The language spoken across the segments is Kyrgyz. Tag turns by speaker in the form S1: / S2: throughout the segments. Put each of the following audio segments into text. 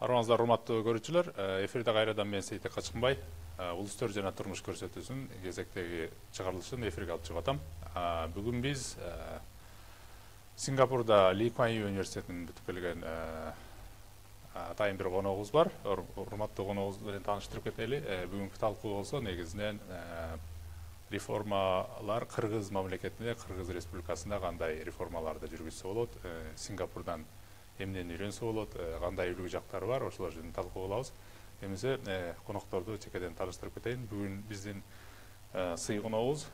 S1: Армаңыздар, урматтуу көрүүчүлөр, эфирде кайрадан мен Сейтек Качкынбай, улустөр жана турмуш көрсөтүүсүнүн кезектеги чыгарылышын эфирге алып чыгып атам. Бүгүн биз Сингапурда Ли Куан Ю университетинин бүтүп келген атайын бир коногубуз бар. Урматтуу коногубуз менен тааныштырып кетели. Бүгүнкү талкуу болсо негизинен реформалар Кыргыз мамлекетинде, Кыргыз Республикасында кандай реформаларды жүргүзсө болот, Сингапурдан эмнени үйрөнсө болот, кандай үлгү жактары бар, ошолор жөнүндө талкуу кылабыз. Эмесе конокторду чекеден тааныштырып кетейин. Бүгүн биздин сый коногубуз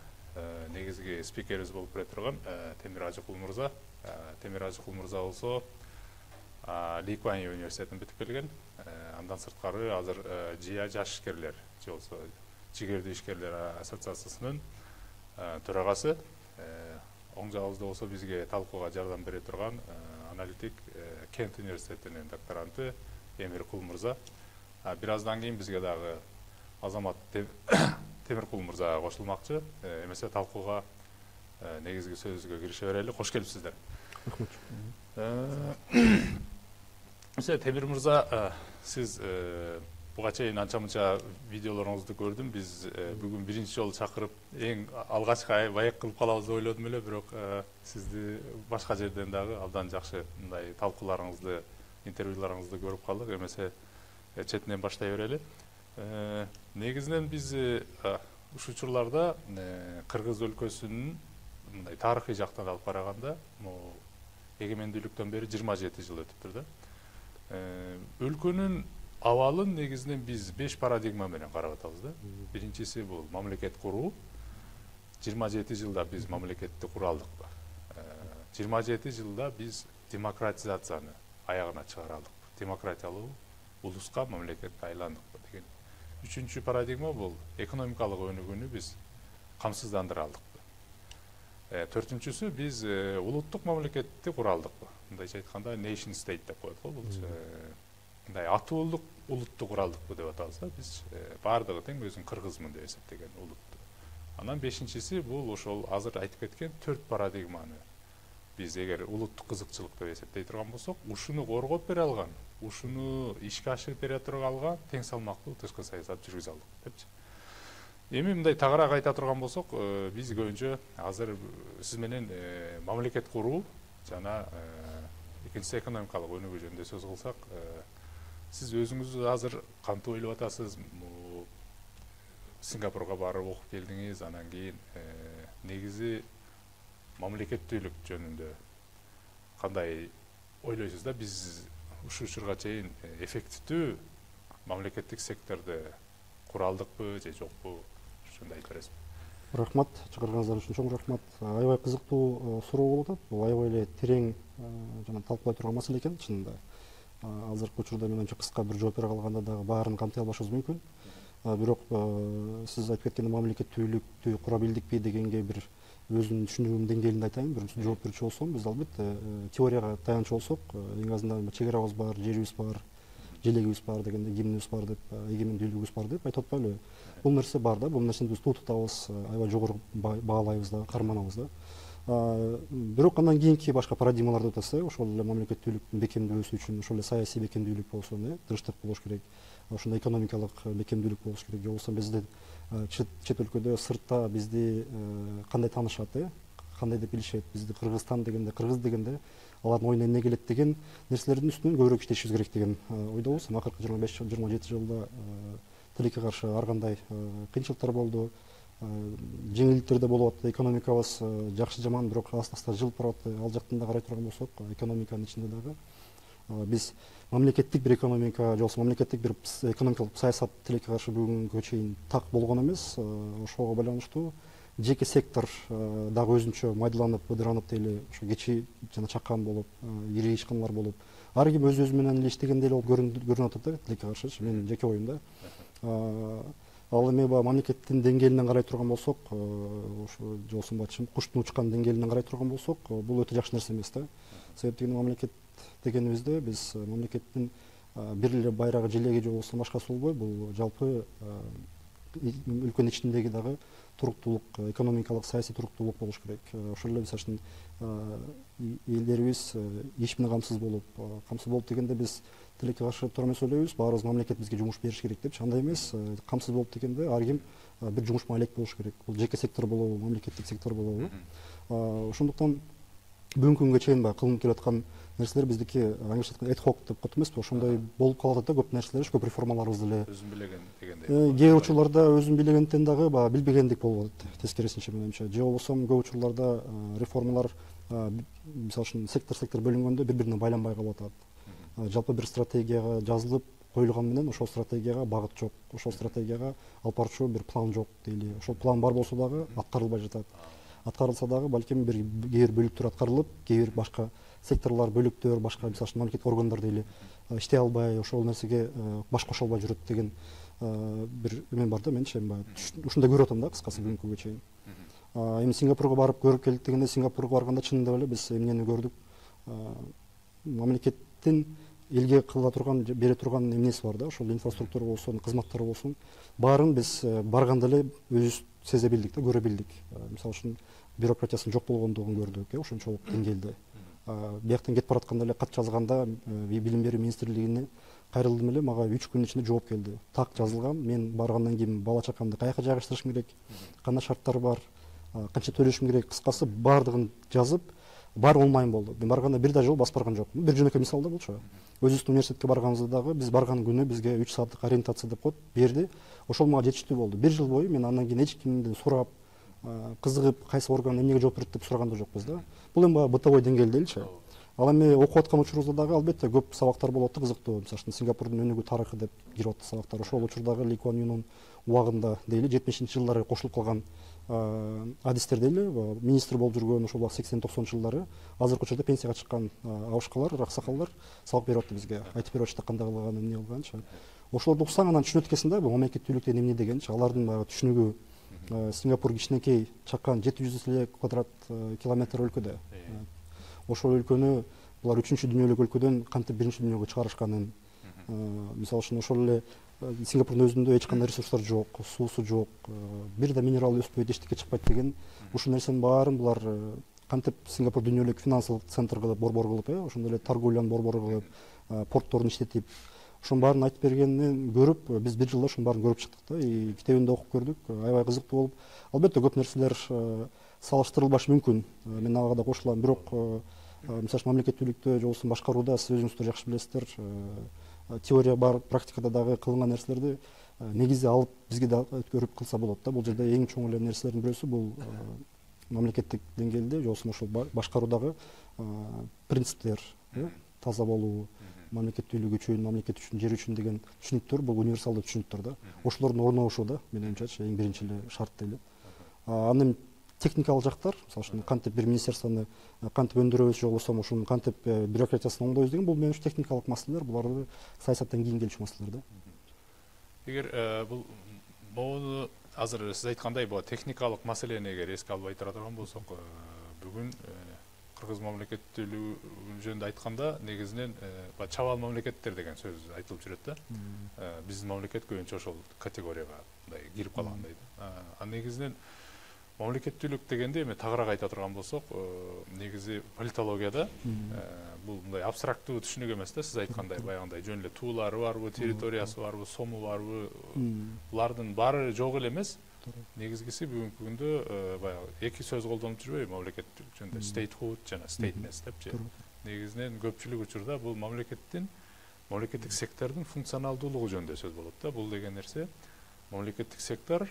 S1: негизги спикерибиз болуп келе турган Темир Ажыкул мырза. Темир Ажыкул мырза болсо Ли Куан Ю университетин бүтүп келген. Андан сырткары азыр ЖИА жаш ишкерлер же болсо жигердүү ишкерлер ассоциациясынын төрагасы. Оң жагыбызда болсо бизге талкууга жардам бере турган аналитик Кент университетинин докторанты Эмир Кул мырза. Бир аздан кийин бизге дагы Азамат Темиркул мырза кошулмакчы. Эмесе талкууга негизги сөзгө кирише берели. Кош келипсиздер. Эмесе Темир мырза, сиз буга чейин анча-мынча видеолоруңузду көрдүм. Биз бүгүн биринчи жолу чакырып, эң алгачкы баек кылып калабыз деп ойлодум эле, бирок сизди башка жерден дагы абдан жакшы мындай талкууларыңызды, интервьюларыңызды көрүп калдык. Эмесе четинен баштай берели. Негизинен биз ушул учурларда Кыргыз өлкөсүнүн мындай тарыхый жактан алып караганда, эгемендүүлүктөн бери 27 жыл өтүптүр да. Өлкөнүн абалын негизинен биз 5 парадигма менен карап атабыз да. Биринчиси бул мамлекет куруу. 27 жылда биз мамлекетти кура алдыкпы? 27 жылда биз демократизацияны аягына чыгара алдыкпы? Демократиялуу улуска, мамлекетке айландыкпы деген. Үчүнчү парадигма бул экономикалык өнүгүүнү биз камсыздандыра алдыкпы? Төртүнчүсү биз улуттук мамлекетти кура алдыкпы? Мындайча айтканда nation state деп коет го бул. Мындай атуулук улутту кура алдыкпы деп атабыз да. Биз баардыгы тең өзүн кыргызмын деп эсептеген улутту. Анан бешинчиси бул ошол азыр айтып кеткен 4 парадигманы биз эгер улуттук кызыкчылык деп эсептей турган болсок, ушуну коргоп бере алган, ушуну ишке ашырып бере турган тең салмактуу тышкы саясат жүргүзө алдык депчи. Эми мындай тагыраак айта турган болсок, биз көбүнчө азыр сиз менен мамлекет куруу жана экинчиси экономикалык өнүгүү жөнүндө сөз кылсак, сиз өзүңүз азыр кантип ойлоп атасыз? Сингапурга барып окуп келдиңиз, анан кийин негизи мамлекеттүүлүк жөнүндө кандай ойлойсуз да? Биз ушул учурга чейин эффективдүү мамлекеттик секторду кура алдыкпы же жокпу? Ушундай айтып бересизби?
S2: Рахмат, чакырганыңыздар үчүн чоң рахмат. Аябай кызыктуу суроо болуп атат. Бул аябай эле терең жана талкуулай турган маселе экен чынында. Азыркы учурда мен анча кыска бир жооп бере калганда дагы баарын камтый албашыбыз мүмкүн. Бирок сиз айтып кеткен мамлекеттүүлүктү кура билдикпи дегенге бир өзүмдүн түшүнүгүмдүн деңгээлинде айтайын. Бир жооп берүүчү болсом, биз албетте теорияга таянчу болсок, эң азынан чек арабыз бар, жерибиз бар, желегибиз бар дегенде, гимнибиз бар деп, эгемендүүлүгүбүз бар деп айтып атпайлыбы? Бул нерсе бар да, бул нерсени биз тутабыз, аябай жогору баалайбыз да, карманабыз да. Бирок андан кийинки башка парадигмаларды атаса, ошол эле мамлекеттүүлүктүн бекемдөөсү үчүн ошол эле саясий бекемдүүлүк болсун, тынчтык болуш керек, ошондой экономикалык бекемдүүлүк болуш керек. Же болбосо биздин чет өлкөдө, сыртта бизди кандай таанышат, кандай деп билишет, бизди Кыргызстан дегенде, кыргыз дегенде алардын оюна эмне келет деген нерселердин үстүнөн көбүрөөк иштешибиз керек деген ойдобуз. Акыркы 25-27 жылда тилекке каршы ар кандай кыйынчылыктар болду, жеңилдиктер да болуп атты, экономикабыз жакшы жаман, бирок аста жылып барып атты. Ал жактан да карай турган болсок, экономиканын ичинде дагы биз мамлекеттик бир экономика, же болбосо мамлекеттик бир экономикалык саясат тилекке каршы бүгүнгө чейин так болгон эмес. Ошого байланыштуу жеке сектор дагы өзүнчө майдаланып, ыдыранып дейли, ошо кечи жана чакан болуп, ири ишканалар болуп, ар ким өз менен эле иштегендей эле болуп көрүнүп атат да, тилекке каршычы, менин жеке оюм да. Ал эми мамлекеттин деңгээлинен карай турган болсок, ошо же болбосо куштун учкан деңгээлинен карай турган болсок, бул өтө жакшы нерсе эмес да. Себеби мамлекет дегенибизде биз мамлекеттин бир эле байрагы, желеги же болбосо башкасы болбой, бул жалпы өлкөнүн ичиндеги дагы туруктуулук, экономикалык, саясий туруктуулук болуш керек. Ошол эле мисалы үчүн элдерибиз иш менен камсыз болуп дегенде биз тилекке каршы тура эмес ойлойбуз, баарыбыз мамлекет бизге жумуш бериш керек депчи. Андай эмес, камсыз болуп дегенде ар ким бир жумуш маалек болуш керек. Бул жеке сектор болобу, мамлекеттик сектор болобу. Ошондуктан бүгүнкү күнгө чейин баягы кылынып келаткан нерселер биздики англисче айтканда ad hoc деп коет эмеспи, ошондой болуп калып атат да, көп нерселер, көп реформаларыбыз деле
S1: өзүн билеген дегендей.
S2: Кээ бир учурларда өзүн билегенден дагы баягы билбегендик болуп атат, тескерисинче менимче. Же болбосо көп учурларда реформалар мисалы үчүн сектор бөлүнгөндө бири бирине байланбай калып атат. Жалпы бир стратегияга жазылып коюлган менен ошол стратегияга багыт жок, ошол стратегияга алып барчу бир план жок дейли. Ошол план бар болсо дагы аткарылбай жатат. Аткарылса дагы балким кээ бир бөлүктөр аткарылып, кээ бир башка секторлор, бөлүктөр, башка мисалы үчүн мамлекеттик органдар дейли иштей албай, ошол нерсеге баш кошо албай жүрөт деген бир эме бар да, менчи баягы ушундай көрүп атам да, кыскасы бүгүнкү күнгө чейин. Эми Сингапурга барып көрүп келдик дегенде, Сингапурга барганда чынында эле биз эмнени көрдүк? Мамлекеттин элге кыла турган, бере турган эмнеси бар да, ошол инфраструктура болсун, кызматтар болсун, баарын биз барганда эле өзүбүз сезе билдик да, көрө билдик. Мисалы үчүн бюрократиясынын жок болгондугун көрдүк, ошончолук деңгээлде. Бияктан кетип баратканда эле кат жазганда Билим берүү министрлигине кайрылдым эле, мага 3 күнүн ичинде жооп келди. Так жазылган, мен баргандан кийин бала чакамды каяка жайгаштырышым керек, кандай шарттар бар, канча төлөшүм керек, кыскасы баардыгын жазып, бар олмайм болду. Мен барганда бир да жолу басып барган жокмун. Бир жөнөкөй мисал да булчу. Өзүбүздүн университетке барганыбызда дагы биз барган күнү бизге 3 сааттык ориентация деп коет, берди. Ошол мага жетиштүү болду. Бир жыл бою мен андан кийин эч кимден сурап, кызыгып, кайсы орган эмнеге жооп берет деп сураган да жокпуз да. Бул эми бытовой деңгээлде элчи. Ал эми окуп аткан учурубузда дагы албетте көп сабактар болот да, кызыктуу. Мисалы үчүн Сингапурдун өнүгүү тарыхы деп кирип атты сабактар. Ошол учурдагы Ли Куан Юнун убагында дейли 70-жылдары кошулуп калган адистер дейли, министр болуп жүргөн ошол 80-90 жылдары азыркы учурда пенсияга чыккан абышкалар, аксакалдар сабак берип атты бизге. Айтып берип атышты кандай кылган, эмне кылганчы. Ошолорду уксаң анан түшүнөт экенсиң да, бул мамлекеттүүлүк деген эмне дегенчи. Алардын баягы түшүнүгү, Сингапур кичинекей, чакан 700 квадрат километр өлкөдө. Ошол өлкөнү булар 3-чү дүйнөлүк өлкөдөн кантип 1-чи дүйнөгө чыгарышканын, мисалы үчүн ошол эле Сингапурдун өзүндө эч кандай ресурстар жок, суусу жок, бир да минерал өспөйт, эчтеке чыкпайт деген ушул нерсенин баарын булар кантип Сингапур дүйнөлүк финансылык центр кылып, борбор кылып, ошондой эле торговляны борбор кылып, портторун иштетип, ошонун баарын айтып бергенин көрүп, биз бир жылда ошонун баарын көрүп чыктык да, китебинде окуп көрдүк, аябай кызыктуу болуп. Албетте көп нерселер салыштырылбашы мүмкүн, мен ага да кошулам, бирок мисалы үчүн мамлекеттүүлүктө же болбосо башкарууда сиз өзүңүздөр жакшы билесиздер, теория бар, практикада дагы кылынган нерселерди негизи алып бизге да көрүп кылса болот да. Бул жерде эң чоң эле нерселердин бирөөсү бул мамлекеттик деңгээлде же болбосо ошол башкаруудагы принциптер, таза болуу, мамлекеттүүлүк үчүн, мамлекет үчүн, жер үчүн деген түшүнүктөр, бул универсалдуу түшүнүктөр да. Ошолордун орношуу да, менимче эң биринчи эле шарт дейли. Анын техникалык жактар, мисалы үчүн кантип бир министерствону кантип өндүрөбүз, же болбосо ошонун кантип бюрократиясын оңдойбуз деген, бул менин үчүн техникалык маселелер, буларды саясаттан кийин келчү маселелер да.
S1: Эгер бул могуну азыр сиз айткандай бул техникалык маселени эгер эске албай тура турган болсок, бүгүн кыргыз мамлекеттүүлүгү жөнүндө айтканда негизинен чабал мамлекеттер деген сөз айтылып жүрөт да. Биздин мамлекет көбүнчө ошол категорияга мындай кирип калгандай да. Негизинен мамлекеттүүлүк дегенде эми тагыраак айта турган болсок, негизи политологияда бул мындай абстрактуу түшүнүк эмес да, сиз айткандай баягындай жөн эле туулары барбы, территориясы барбы, сому барбы, булардын баары жок эле эмес. Негизгиси бүгүнкү күндө баягы эки сөз колдонуп жүрбөйбү мамлекеттүүлүк жөнүндө, statehood жана stateness депчи. Негизинен көпчүлүк учурда бул мамлекеттик сектордун функционалдуулугу жөнүндө сөз болот да. Бул деген нерсе мамлекеттик сектор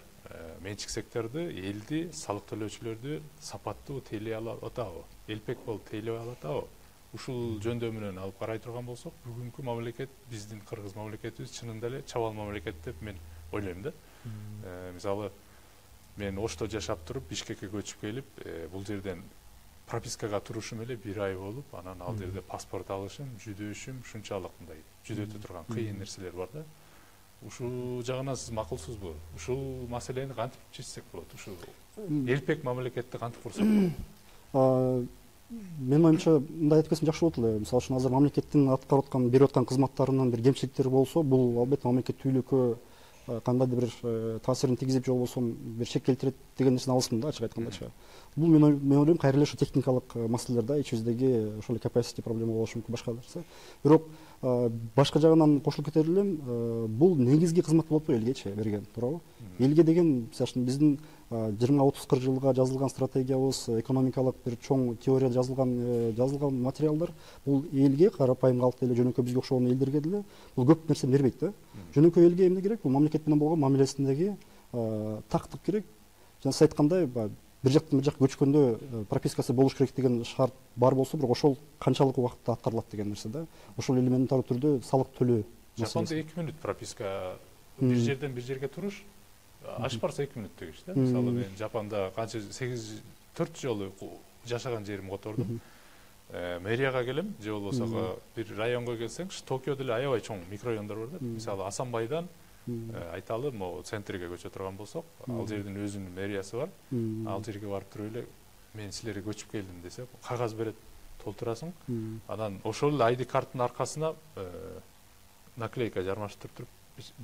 S1: менчик секторду, элди, салык төлөөчүлөрдү сапаттуу тейлей алып атабы, элпек болуп тейлей алып атабы? Ушул жөндөмүнөн алып карай турган болсок, бүгүнкү мамлекет, биздин кыргыз мамлекетибиз чынында эле чабал мамлекет деп мен ойлойм да. Мисалы, мен Ошто жашап туруп, Бишкекке көчүп келип, бул жерден пропискага турушум эле 1 ай болуп, анан ал жерде паспорт алышым, жүдөшүм ушунчалык мындай жүдөтө турган кыйын нерселер бар да. Ушул жагынан сиз макулсузбу? Ушул маселени кантип чечсек болот? Ушул элпек мамлекетти кантип курсак болот?
S2: Менин оюмча мындай айтып кетсем жакшы болот эле. Мисалы үчүн азыр мамлекеттин аткарып аткан, берип аткан кызматтарынын бир кемчиликтери болсо, бул албетте мамлекеттүүлүккө кандайдыр бир таасирин тийгизип же болбосо бир шек келтирет деген нерсени алысмын да, ачык айткандачы. Бул мен ойлойм кайра эле ошо техникалык маселелер да, ичибиздеги ошол capacity проблема болушу мүмкүн, башка нерсе. Бирок башка жагынан кошулуп кетер элем, бул негизги кызмат болот го элгечи берген, туурабы? Элге деген, мисалы үчүн биздин 20-30-40 жылга жазылган стратегиябыз, экономикалык бир чоң теорияда жазылган материалдар бул элге, карапайым калкты эле, жөнөкөй бизге окшогон элдерге деле бул көп нерсени бербейт да. Жөнөкөй элге эмне керек? Бул мамлекет менен болгон мамилесиндеги тактык керек. Жана сиз айткандай, бир жактан бир жакка көчкөндө пропискасы болуш керек деген шарт бар болсо, бирок ошол канчалык убакытта аткарылат деген нерсе да. Ошол элементар түрдө салык төлөө.
S1: Жапонда 2 мүнөт прописка, бир жерден бир жерге туруш аш барса 2 мүнөт дегиш да. Мисалы мен Жапонда канча 4 жолу жашаган жерим котордум. Мэрияга келем, же болбосо бир районго келсең, Токиодо деле аябай чоң микрорайондор бар да. Мисалы Асанбайдан айталы, могу центрге көчө турган болсок, ал жердин өзүнүн мэриясы бар. Ал жерге барып туруп эле мен силерге көчүп келдим десе, кагаз берет, толтурасың. Анан ошол эле ID карттын аркасына наклейка жармаштырып туруп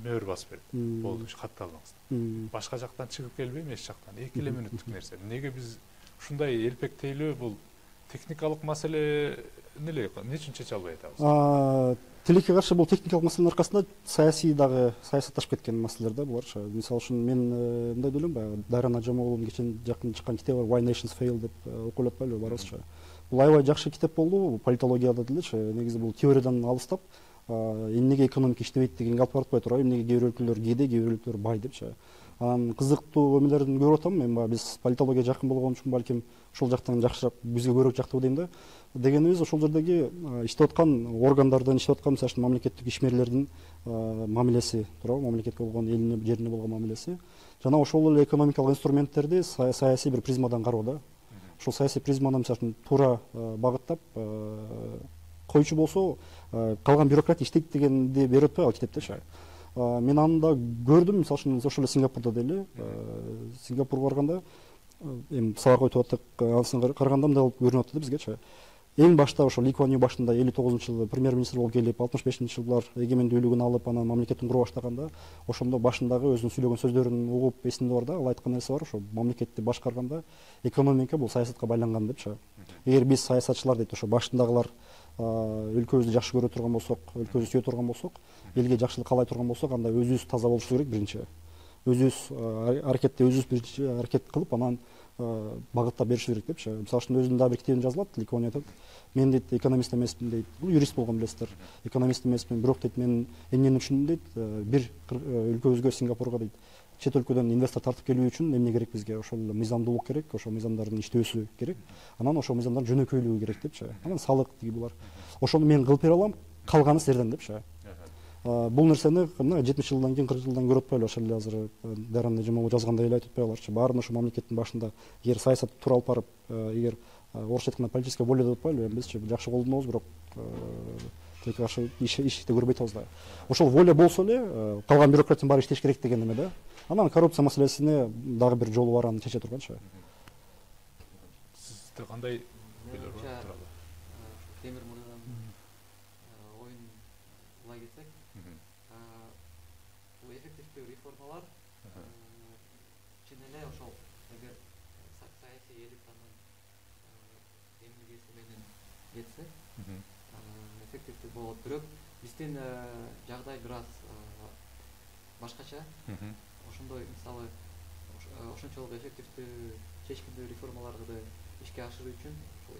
S1: мөөр басып берет. Болду, катты алыңыз. Башка жактан чыгып келбейм, эч жактан. 2 мүнөттүк нерсе. Неге биз ушундай элпектейлүү бул техникалык маселени эле эмне үчүн чече албай атабыз?
S2: Тилекке каршы бул техникалык маселенин аркасында саясий дагы саясатташып кеткен маселелер да булар. Мисалы үчүн мен мындай ойлойм, баягы Дайран Ажамоглунун жакын чыккан китеби бар, Why Nations Fail деп окуп атпайлыбы баарыбызчы. Бул аябай жакшы китеп болду, политологияда делечи. Негизи бул теориядан алыстап, эмнеге экономика иштебейт дегенге алып баратпай туурабы, эмнеге кээ бир өлкөлөр кээде, кээ бир өлкөлөр бай депчи. Анан кызыктуу эмелерин көрүп атам мен, биз политология жакын болгон үчүн балким ошол жактан жакшыраак, бизге көбүрөөк жактуу дейм да. Дегенибиз ошол жердеги иштеп аткан органдардын, иштеп аткан мисалы үчүн мамлекеттик ишмерлердин мамилеси, туурабы, мамлекетке болгон, элине, жерине болгон мамилеси жана ошол эле экономикалык инструменттерди саясий бир призмадан кароо да. Ошол саясий призманы мисалы үчүн туура багыттап койчу болсо, калган бюрократ иштейт дегенди берип атпайбы ал китептечи. Мен аны да көрдүм, мисалы үчүн ошол эле Сингапурда деле. Сингапурга барганда эми сабак өтүп аттык, анысына караганда мындай болуп көрүнүп атты да бизгечи. Эң башта ошол Ли Куан Ю башында 59-жылы премьер-министр болуп келип, 65-жылдар эгемендүүлүгүн алып, анан мамлекеттин кура баштаганда, ошондо башындагы өзүнүн сүйлөгөн сөздөрүн угуп эсимде бар да, ал айткан нерсе бар, ошо мамлекетти башкарганда экономика бул саясатка байланган депчи. Эгер биз саясатчылар дейт, ошо башындагылар өлкөбүздү жакшы көрө турган болсок, өлкөбүздү сүйө турган болсок, элге жакшылык каалай турган болсок, анда өзүбүз таза болушубуз керек биринчи. Өзүбүз аракетти өзүбүз биринчи аракет кылып, анан багыттап беришибиз керек депчи. Мисалы үчүн өзүнүн дагы бир китебинде жазылат, Ли Куан Ю айтат, мен дейт экономист эмесмин дейт. Бул юрист болгон билесиздер. Экономист эмесмин, бирок дейт мен эмнени үчүн дейт, бир өлкөбүзгө, Сингапурга дейт, чет өлкөдөн инвестор тартып келүү үчүн эмне керек бизге? Ошол мыйзамдуулук керек, ошол мыйзамдардын иштөөсү керек. Анан ошол мыйзамдардын жөнөкөйлүгү керек депчи. Анан салык тиги булар. Ошону мен кылып бере алам, калганы силерден депчи. Бул нерсени 70 жылдан кийин, 40 жылдан көрүп атпайлы, ошол эле азыр Дайран Ажамоглу жазгандай эле айтып атпайларчы. Баарын ошо мамлекеттин башында эгер саясатты туура алып барып, эгер орусча айтканда политическая воля деп атпайлы, бизчи жакшы колдонобуз, бирок тилекке каршы ишти көрбөй атабыз да. Ошол воля болсо эле, калган бюрократиянын баары иштеш керек деген эме да. Анан коррупция маселесине дагы бир жолу бар, аны чече турганчы.
S1: Сизде кандай ойлор бар туралы?
S3: Темир мырзанын оюн улай кетсек, бул эффективдүү реформалар чын эле ошол эгер саясий элитанын эмгеси менен кетсе эффективдүү болот. Бирок биздин жагдай бир аз башкача. Ошондой мисалы ошончолук эффективдүү чечкиндүү реформаларды ишке ашыруу үчүн ошол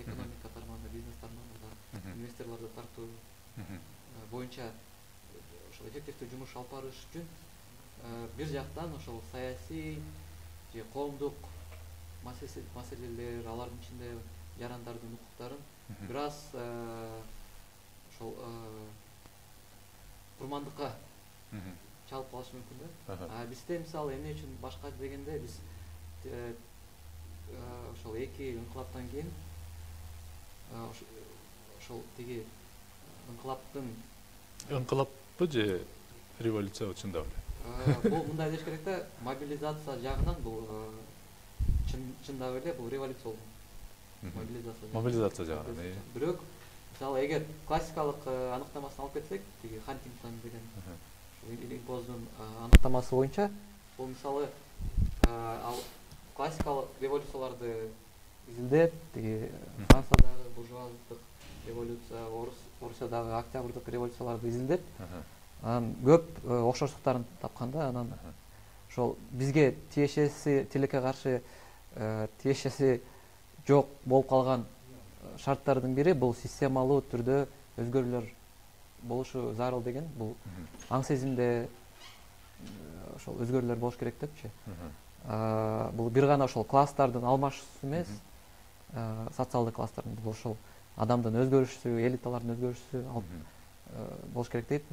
S3: экономика тармагында, бизнес тармагында инвесторлорду тартуу боюнча ошол эффективдүү жумуш алып барыш үчүн бир жактан ошол саясий же коомдук маселелер, алардын ичинде жарандардын укуктарын бир аз ошол курмандыкка чалып калышы мүмкүн да. Бизде мисалы эмне үчүн башка дегенде, биз ошол эки инкылаптан кийин ошол тиги
S1: инкылаппы же революция чындап эле?
S3: Бул мындай деш керек да, мобилизация жагынан бул чындап эле бул революция болду.
S1: Мобилизация жагынан.
S3: Бирок мисалы эгер классикалык аныктамасын алып кетсек, тиги Хантингтон деген Илимпоздун аныктамасы боюнча бул мисалы ал классикалык революцияларды изилдеп, тиги Франциядагы буржуаздык революция, Орусиядагы октябрдык революцияларды изилдеп, анан көп окшоштуктарын тапкан да. Анан ошол бизге тиешеси, тилекке каршы тиешеси жок болуп калган шарттардын бири бул системалуу түрдө өзгөрүүлөр болушу зарыл деген. Бул аң сезимде ошол өзгөрүүлөр болуш керек депчи. Бул бир гана ошол класстардын алмашуусу эмес, социалдык класстардын, бул ошол адамдын өзгөрүшү, элиталардын өзгөрүшү болуш керек дейт.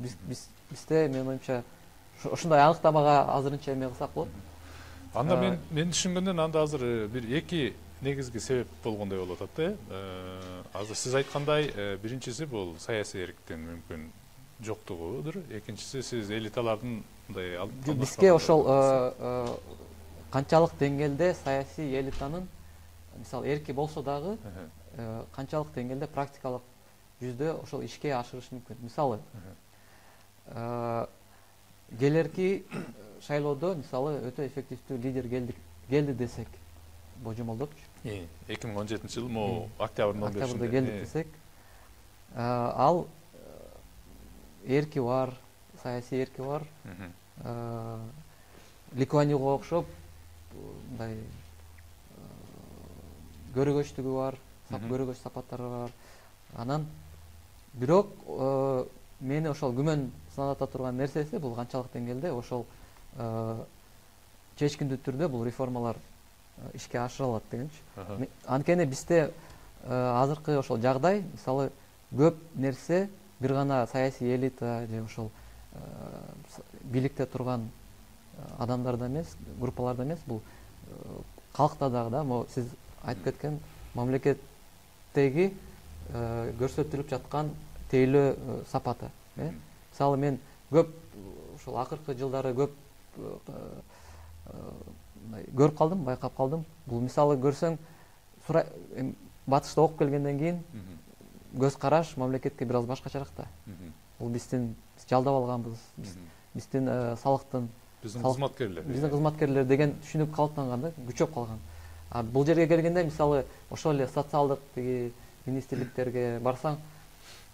S3: Бизде менин оюмча ушундай аныктамага азырынча эме кылсак болот.
S1: Анда мен түшүнгөндөн анда азыр бир эки негизги себеп болгондой болуп атат да. Азыр сиз айткандай, биринчиси бул саясий эрктин мүмкүн жоктугудур. Экинчиси сиз элиталардын мындай
S3: бизге ошол канчалык деңгээлде саясий элитанын мисалы эрки болсо дагы канчалык деңгээлде практикалык жүздө ошол ишке ашырышы мүмкүн. Мисалы келерки шайлоодо мисалы өтө эффективдүү лидер келди десек, божомолдопчу.
S1: 2017 жыл могу октябрдын 15-inde.
S3: Октябрда келди десек, ал эрки бар, саясий эрки бар. Ликуанюга окшоп мындай көрөгөчтүгү бар, көрөгөч сапаттары бар. Анан бирок мени ошол күмөн саната турган нерсеси бул канчалык деңгээлде ошол чечкиндүү түрдө бул реформалар ишке ашырылат дегенчи. Анткени бизде азыркы ошол жагдай, мисалы көп нерсе бир гана саясий элита же ошол бийликте турган адамдарда эмес, группаларда эмес, бул калкта дагы да, могу сиз айтып кеткен мамлекеттеги көрсөтүлүп жаткан тейлөө сапаты. Мисалы мен көп ошол акыркы жылдары көп көрүп калдым, байкап калдым. Бул мисалы көрсөң, батышта окуп келгенден кийин көз караш мамлекетке бир аз башкачараак да. Бул биз жалдап алганбыз, биздин салыктын, биздин кызматкерлер деген түшүнүк калыптанган да, күчөп калган. Бул жерге келгенде мисалы ошол эле социалдык тиги министрликтерге барсаң,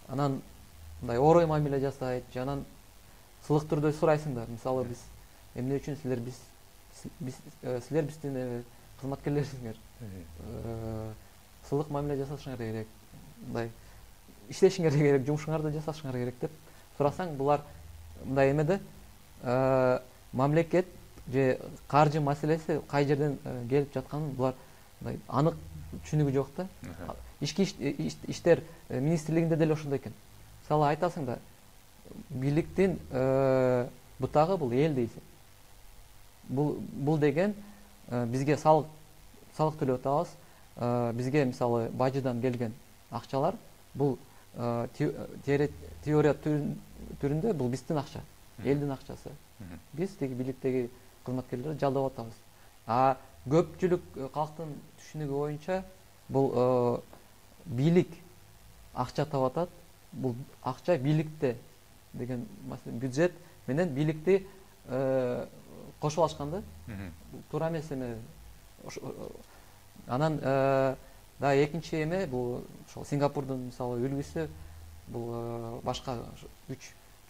S3: анан мындай орой мамиле жасайт, же анан сылык түрдө сурайсыңдар. Мисалы биз эмне үчүн силер биздин кызматкерлерсиңер, сылык мамиле жасашыңар керек, мындай иштешиңер керек, жумушуңарды жасашыңар керек деп сурасаң, булар мындай эмеде мамлекет же каржы маселеси кай жерден келип жатканын булар мындай анык түшүнүгү жок да. Ички иштер министрлигинде деле ошондой экен. Мисалы айтасың да, бийликтин бутагы бул эл дейсиң. Бул деген бизге салык төлөп атабыз. Бизге мисалы бажыдан келген акчалар бул теория түрүндө бул биздин акча, элдин акчасы. Биз тиги бийликтеги кызматкерлерди жалдап атабыз. Көпчүлүк калктын түшүнүгү боюнча бул бийлик акча таап атат. Бул акча бийликте деген бюджет менен бийликти кошуп алышкан да. Туура эмес эме. Анан да экинчи эме бул ошол Сингапурдун мисалы үлгүсү, бул башка 3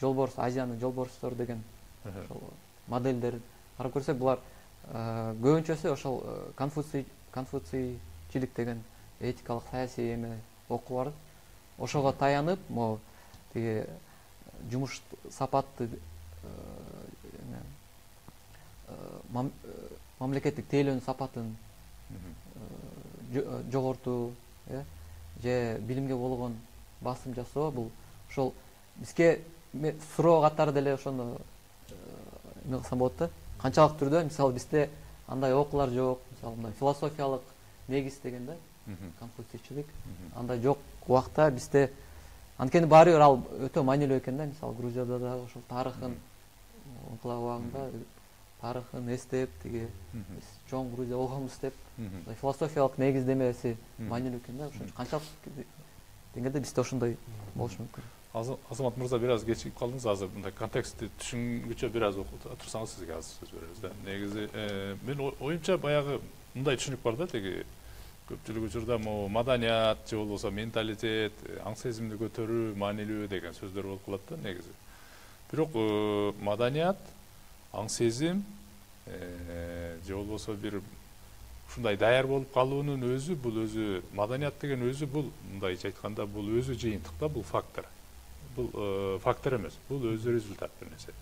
S3: жолборс, Азиянын жолборстору деген ошол модельдер карап көрсөк, булар көбүнчөсү ошол конфуцийчилик деген этикалык саясий эме окуу бар. Ошого таянып, могу тиги жумуш сапатты мамлекеттик тейлөөнүн сапатын жогортуу, же билимге болгон басым жасоо, бул ошол бизге суроо катары деле ошону эме кылсам болот да. Канчалык түрдө мисалы бизде андай окуулар жок, мисалы мындай философиялык негиз деген да, конфуцийчилик андай жок убакта бизде, анткени баары бир ал өтө маанилүү экен да. Мисалы Грузияда да ошол тарыхын, инкылап убагында тарыхын эстеп, тиги биз чоң Грузия болгонбуз деп, философиялык негиздемеси маанилүү экен да. Ошон канчалык деңгээлде бизде ошондой болушу мүмкүн.
S1: Азамат мырза, бир аз кечигип калдыңыз. Азыр мындай контекстти түшүнгүчө бир аз турсаңыз сизге азыр сөз беребиз да. Негизи мен оюмча баягы мындай түшүнүк бар да, теги көпчүлүк учурда могу маданият же болбосо менталитет, аң сезимди көтөрүү маанилүү деген сөздөр болуп калат да негизи. Бирок маданият, аң сезим же болбосо бир ушундай даяр болуп калуунун өзү, бул өзү маданият деген өзү бул мындайча айтканда бул өзү жыйынтык да, бул фактор. Бул фактор эмес, бул өзү результат бир нерсе.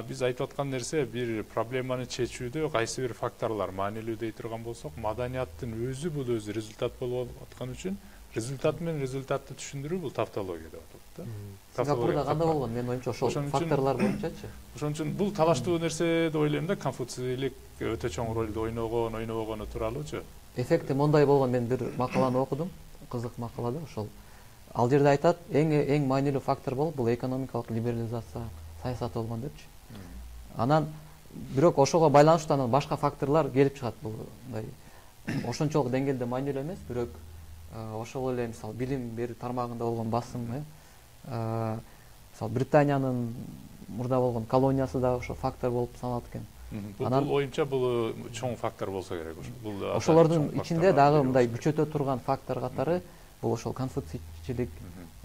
S1: Биз айтып аткан нерсе бир проблеманы чечүүдө кайсы бир факторлор маанилүү дей турган болсок, маданияттын өзү бул өзү результат болуп аткан үчүн результат менен результатты түшүндүрүү бул тавтология деп аталат да.
S3: Сингапурда кандай болгон? Менин оюмча ошол факторлор боюнчачы.
S1: Ошон үчүн бул талаштуу нерсе деп ойлойм да, конфуцийлик өтө чоң ролду ойногону тууралуучу.
S3: Эффекти мондай болгон, мен бир макаланы окудум, кызык макала да, ошол. Ал жерде айтат, эң маанилүү фактор болуп бул экономикалык либерализация саясаты болгон депчи. Анан бирок ошого байланыштуу анан башка факторлор келип чыгат. Бул мындай ошончолук деңгээлде маанилүү эмес, бирок ошол эле мисалы билим берүү тармагында болгон басым, мисалы Британиянын мурда болгон колониясы да ошо фактор болуп саналат экен.
S1: Бул оюмча бул чоң фактор болсо керек. Бул
S3: ошолордун ичинде дагы мындай күчөтө турган фактор катары бул ошол конфуцийчилик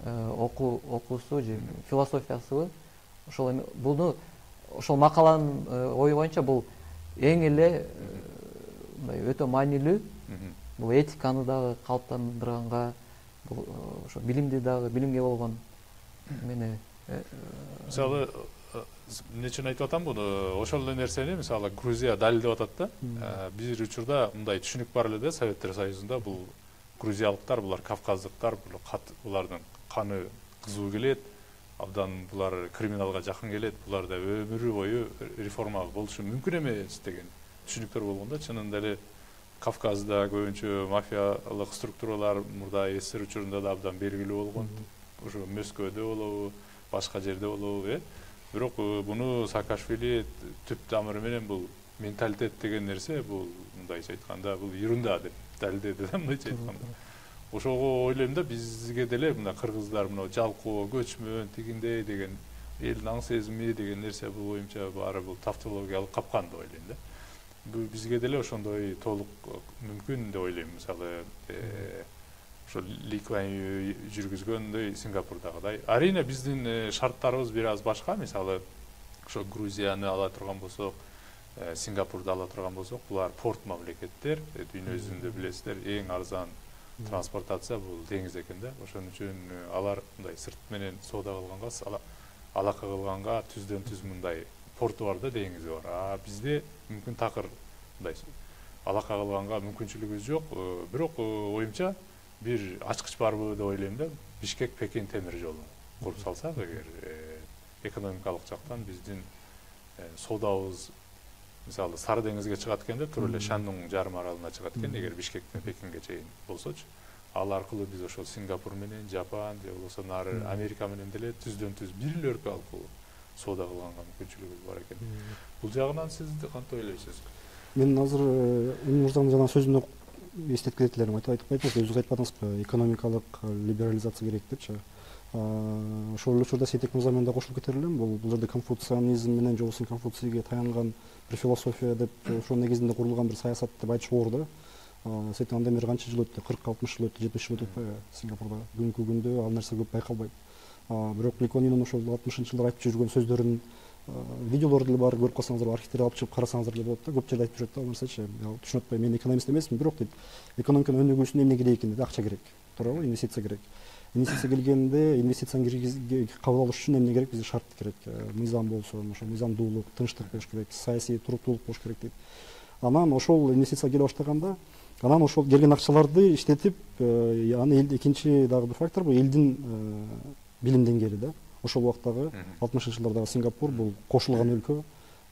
S3: окуусу же философиясыбы. Ошол буну ошол макаланын ою боюнча бул эң эле мындай өтө маанилүү. Бул этиканы дагы калыптандырганга, бул ошо билимди дагы, билимге болгон эмени
S1: мисалы эмне үчүн айтып атам буну? Ошол эле нерсени мисалы Грузия далилдеп атат да. Бир учурда мындай түшүнүк бар эле да, Советтер Союзунда бул грузиялыктар, булар кавказдыктар, булардын каны кызуу келет, абдан булар криминалга жакын келет, буларда өмүрү бою реформа болушу мүмкүн эмес деген түшүнүктөр болгон да. Чынында эле Кавказда көбүнчө мафиялык структуралар мурда СССР учурунда да абдан белгилүү болгон. Ошо Москвада болобу, башка жерде болобу, бирок буну Саакашвили түп тамыры менен бул менталитет деген нерсе, бул мындайча айтканда бул ерунда деп далилдеди да, мындайча айтканда. Ошого ойлойм да, бизге деле мына кыргыздар мына жалкоо, көчмөн, тигиндей деген элдин аң сезими деген нерсе бул оюмча баары бул тавтологиялык капкан деп ойлойм да. Бизге деле ошондой толук мүмкүн деп ойлойм. Мисалы ошо Ли Куан Ю жүргүзгөндөй Сингапурдагыдай. Арийне биздин шарттарыбыз бир аз башка. Мисалы ошо Грузияны ала турган болсок, Сингапурду ала турган болсок, булар порт мамлекеттер, дүйнө жүзүндө билесиздер, эң арзан транспортация бул деңиз экен да. Ошон үчүн алар мындай сырт менен соода кылганга, алака кылганга түздөн түз мындай порту бар да, деңизи бар. Бизде мүмкүн такыр мындай алака кылганга мүмкүнчүлүгүбүз жок. Бирок оюмча бир ачкыч барбы деп ойлойм да. Бишкек-Пекин темир жолун куруп салсак эгер, экономикалык жактан биздин соодабыз мисалы Сары деңизге чыгат экенде, тура эле Шандун жарым аралына чыгат экен, эгер Бишкектен Пекинге чейин болсочу. Ал аркылуу биз ошол Сингапур менен, Жапан же болбосо нары Америка менен деле түздөн түз бир эле өлкө алып соода кылганга мүмкүнчүлүгүбүз бар экен. Бул жагынан сиз кантип ойлойсуз?
S2: Мен азыр мырзанын жана сөзүнө эстетип кетет элем, айтып айтпайсыз, өзүңүз айтып атыңызбы, экономикалык либерализация керек депчи. Ошол учурда Сетек мырза менен да кошулуп кетер элем. Бул жерде конфуцианизм менен же болбосо Конфуцийге таянган бир философия деп, ошол негизинде курулган бир саясат деп айтышка оор да. Сетек андан бери канча жыл өттү? 40-60 жыл өттү, 70 жыл өтүп атпайбы Сингапурда? Бүгүнкү күндө ал нерсе көп байкалбайт. Бирок Ли Куан Юнун ошол 60-жылдар айтып жүргөн сөздөрүн видеолор деле бар, көрүп калсаңыздар, архивдерди алып чыгып карасаңыздар деле болот да. Көп жерде айтып жүрөт да ал нерсечи. Түшүнүп атпайм, мен экономист эмесмин, бирок дейт, экономиканын өнүгүүсүнө эмне керек экен дейт, акча керек. Туурабы? Инвестиция керек. Инвестиция келгенде, инвестицияны кабыл алыш үчүн эмне керек? Бизге шарт керек. Мыйзам болсо, ошо мыйзамдуулук, тынчтык болуш керек, саясий туруктуулук болуш керек дейт. Анан ошол инвестиция келе баштаганда, анан ошол келген акчаларды иштетип, аны экинчи дагы бир фактор бул элдин билим деңгээли да. Ошол убактагы 60-жылдардагы Сингапур бул кошулган өлкө,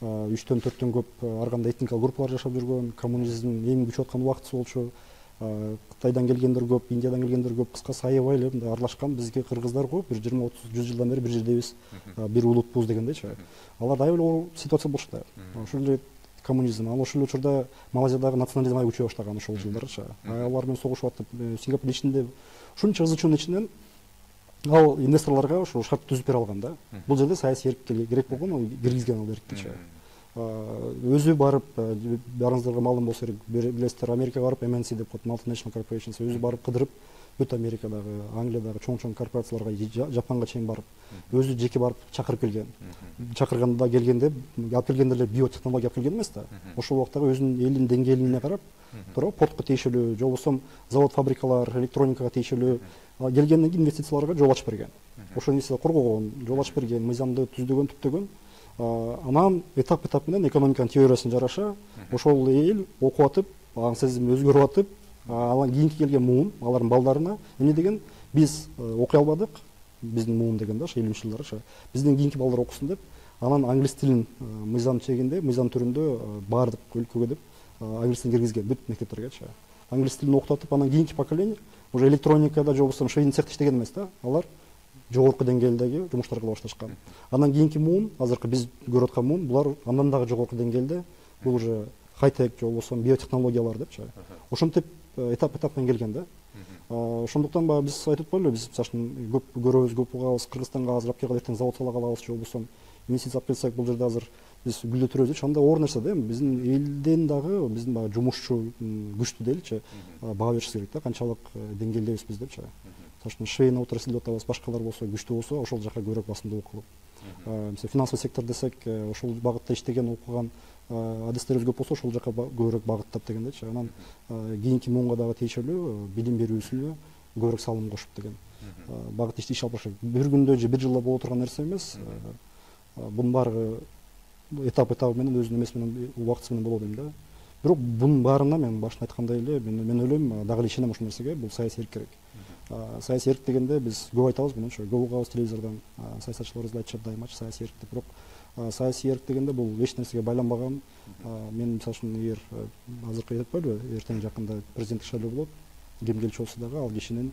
S2: 3-4 көп ар кандай этникалык группалар жашап жүргөн, коммунизм эң күчүп аткан убактысы болчу. Кытайдан келгендер көп, Индиядан келгендер көп, кыскасы аябай эле мындай аралашкан. Бизге кыргыздар го бир 20-30-100 жылдан бери бир жердебиз, бир улутпуз дегендейчи. Алар аябай эле оор ситуация болушта. Ошол эле коммунизм, ал ошол учурда Малайзиядагы национализм аябай күчөй баштаган ошол жылдарчы. Алар менен согушуп атып, Сингапур ичинде ушунча ызы чуунун ичинен ал инвесторлорго ошо шарт түзүп бере алган да. Бул жерде саясий эркиндик керек болгон, ал киргизген ал эркиндикчи. Өзү барып, баарыңыздарга маалым болсо керек, билесиздер, Америкага барып MNC деп коет, Multinational Corporations, өзү барып кыдырып, бүт Америкадагы, Англиядагы чоң корпорацияларга, Жапонго чейин барып, өзү жеке барып чакырып келген. Чакырганда келгенде, алып келгенде эле биотехнология алып келген эмес да. Ошол убактагы өзүнүн элинин деңгээлине карап, туура портко тийишелүү, же болбосо завод, фабрикалар, электроникага тийишелүү келгенден кийин инвестицияларга жол ачып берген. Ошол инвестиция коргогон, жол ачып берген, мыйзамды түздөгөн, түптөгөн. Анан этап менен экономиканын теориясына жараша ошол эл окуп атып, аңсызым өзгөрүп атып, анан кийинки келген муун алардын балдарына эмне деген, биз окуй албадык, биздин муун деген да, ошо 70 жылдары бизден кийинки балдар окусун деп, анан англис тилин мыйзам чегинде, мыйзам түрүндө баардык өлкөгө деп англис тилин киргизген бүт мектептерге. Англис тилин окутуп, анан кийинки поколение уже электроникада, же болбосо швейный цехте иштеген эмес да, алар жогорку деңгээлдеги жумуштар кыла башташкан. Андан кийинки муун, азыркы биз көрүп аткан муун, булар андан дагы жогорку деңгээлде, бул уже хай-тек, же болбосо биотехнологиялар депчи. Ошентип этап менен келген да. Ошондуктан биз айтып коелу, биз мисалы көп көрөбүз, көп угабыз, Кыргызстанга азыр алып келип эртең завод сала калабыз, же болбосо инвестиция алып келсек, бул жерде азыр биз гүлдөтүрөбүз. Анда оор нерсе да, биздин элден дагы биздин жумушчу күчтүү дейли, баа беришибиз керек да, канчалык деңгээлдебиз биз депчи. Мисалы швейный отрасль деп атабыз, башкалар болсо күчтүү болсо, ошол жака көбүрөөк басымдуулук кылып. Мисалы финансовый сектор десек, ошол багытта иштеген, окуган адистерибиз көп болсо, ошол жака көбүрөөк багыттап дегендечи. Анан кийинки муунга дагы тийишелүү билим берүүсүнө көбүрөөк салым кошуп деген багытта иш алып барышат. Бир күндө же бир жылда боло турган нерсе эмес. Бунун баары этап менен өзүнүн эмеси менен, убактысы менен болот дейм да. Бирок бунун баарына мен башында айткандай эле, мен ойлойм, дагы эле ишенем ушул нерсеге, бул саясий эрк керек. Саясий эрк дегенде биз көп айтабыз мынча, көп угабыз телевизордон, саясатчыларыбыз да айтышат дайымачы саясий эрк деп. Бирок саясий эрк дегенде бул эч нерсеге байланбаган. Мен мисалы үчүн эгер азыркы айтып коелу, эртең жакында президенттик шайлоо болот, ким келчү болсо дагы ал кишинин